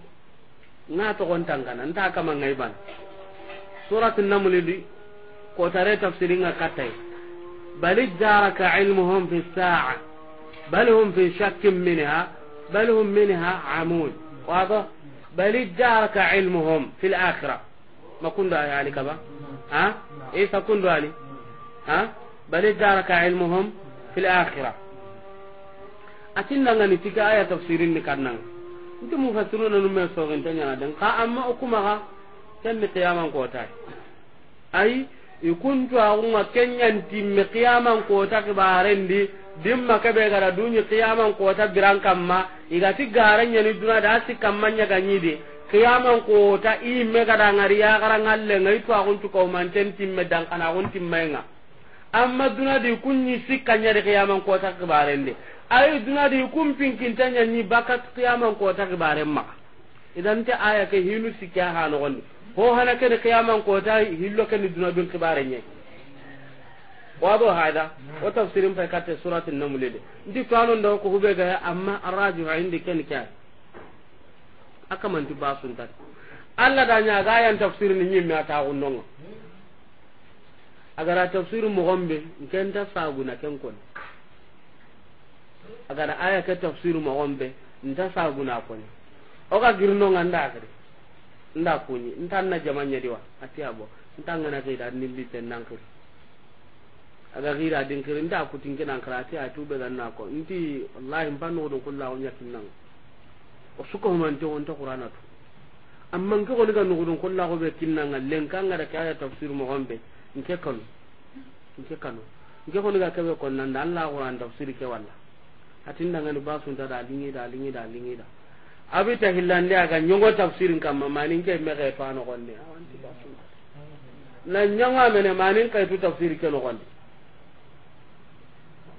Nga to gon tangana, nta kama ngai ban. Surat An-Naml di, ko tare tafsirin ŋa katay. بل ادارك علمهم في الساعة، بل هم في شك منها، بل هم منها عمون. واضح؟ بل ادارك علمهم في الآخرة. Ma kundu yani kaba? Ha? Isa kundu yani? Ha? بل ادارك علمهم في الآخرة. Atin dangani tiga aya tafsirin ni kannan. Nti mufassiruna numme sogin tanya na den. Ka amma o kuma ga, ken ni qiyaman ko tay. Ay, i kuntu axunga kenyan timme qiyaman kota xibaren di, dimma kebe gara duñi qiyaman kota biran kamma, i ga ti gara ñani duna da, a sikkamma ñaga ñi di, qiyaman kota i me gada ngari ya gara ngalle nga, i tu axun tu kaumanten timme dan kana axun timmenga. Amma duna di kuñi sikka ña di qiyaman kota xibaren di. Ay, duna di kun pinkinta ña ñi baka qiyaman kota xibaren maxa. Idan te aya ke hinu sikki a ha nogondi. Ho hana ke ni qiyaman kota hillo ke ni duna bin xibare ñe. Wado hada, o tafsirin pay katte suratul Naml de. Ndi to anon da ko hube ga ya, amma arrajihu indi ken kya. Aka manti basunta. Allah da ña ga yan tafsir ni ñimme a ta gundonga. A gara tafsir moxon be, nke nta saguna ken koni. A gara aya ke tafsir moxon be, nta saguna koni. O ga girno nga nda xiri. Nda kuñi, nta na jama ña di wa, a ti a bo. Nta ngana ke da nilli ten nan xiri. A ga xiri a din xiri, nta kutin ke nan xiri, a ti a tu be ganna ko. Nti, wallahi, mpa no do kullahu ñakin nan. O suko man te wonta Qur'ana tu. Amma nke xoni ga nugudun kolla ko be kinnanga lenka nga da ke aya tafsir moxon be, nke kanu. Nke kanu. Nke xoni ga kebe konnanda Allah Qur'an tafsir ke walla. Atinda ngani basunta da lingi da, lingi da, lingi da. Abi ta hillande a ga ñogo tafsirin kamma, mani nke me ke to a nogondi. Awanti basunta. Na ñanga mene mani nke tu tafsir ke nogondi.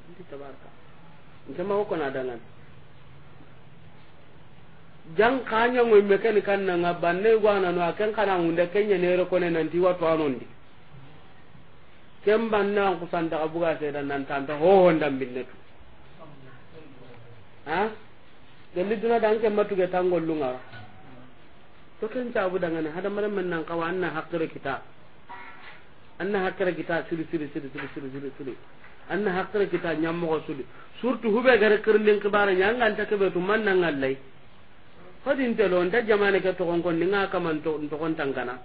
Anti tabaraka. Nke ma ko na dangan. Jan kanya ngoy mekani kanna nga banne gwana no aken kana ngunde kenya nere kone nanti watu anondi. Ken banna an kusanta ka buga seda nan tanta ho honda binnetu. Ha? Gelli duna dan ke matuge tangollu nga. To ken cabu dangane hada mare men nan kawa anna hakkere kita. Anna hakkere kita siri, siri, siri, siri, siri, siri, siri. Anna hakkere kita ñammoxo suli. Surtout hube gare kirindin kibara ña, an ga nta kebe tu man nan allay. Hodin telo, nta jamane ke toxon kon, ni nga kaman to, toxon tangana.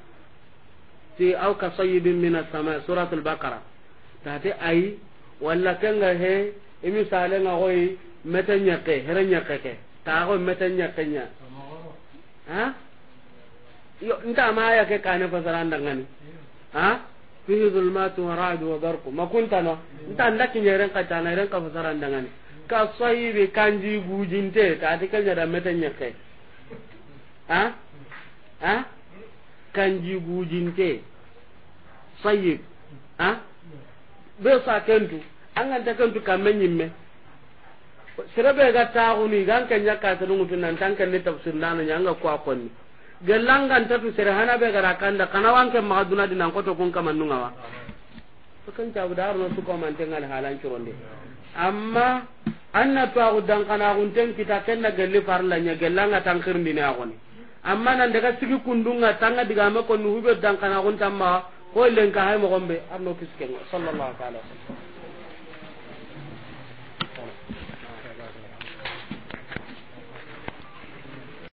Ti aw ka sayyibin min as-sama, Suratul Baqara. Tate ay, walla kenga he, i misale nga koy, mete ñakke, here ñakke ke. Ta koy mete ñakke ña. Ha? Yo, nta ma aya ke kane fasara ndangani. Ha? Fihi zulmatu wa ra'du wa barqu. Ma kunta no. Nta nda kiñe ren ka tana, ren ka fasara ndangani. Ka sayyibi kanji gujinte, ta ti kanya da mete ñakke. Ha? Ha? Kanji gujinte. Sayyib. Ha? Be sa kentu. An ga nta kentu kamme ñimme. Sere be ga taxunu, i ga n ke ña ka sere ŋutu nan tan ke ni tafsir ndano ña, an ga ko a konni. Gella an ga nta tu sere hana be ga ra kanda, kana wa an ke maxa duna di nan koto kun kamannu nga wa. To ken cabu da arno su ko man tengal halan curonde. Amma anna to axu dan kana axun ten kita ken na gelli farla ña, gella an ga tan xirindini a xoni. Amma nan daga sigi kundunga tanga diga me ko nu hube dan kana axun tamma ko lenka hay mo gombe arno kisken. Sallallahu ta'ala wa sallam.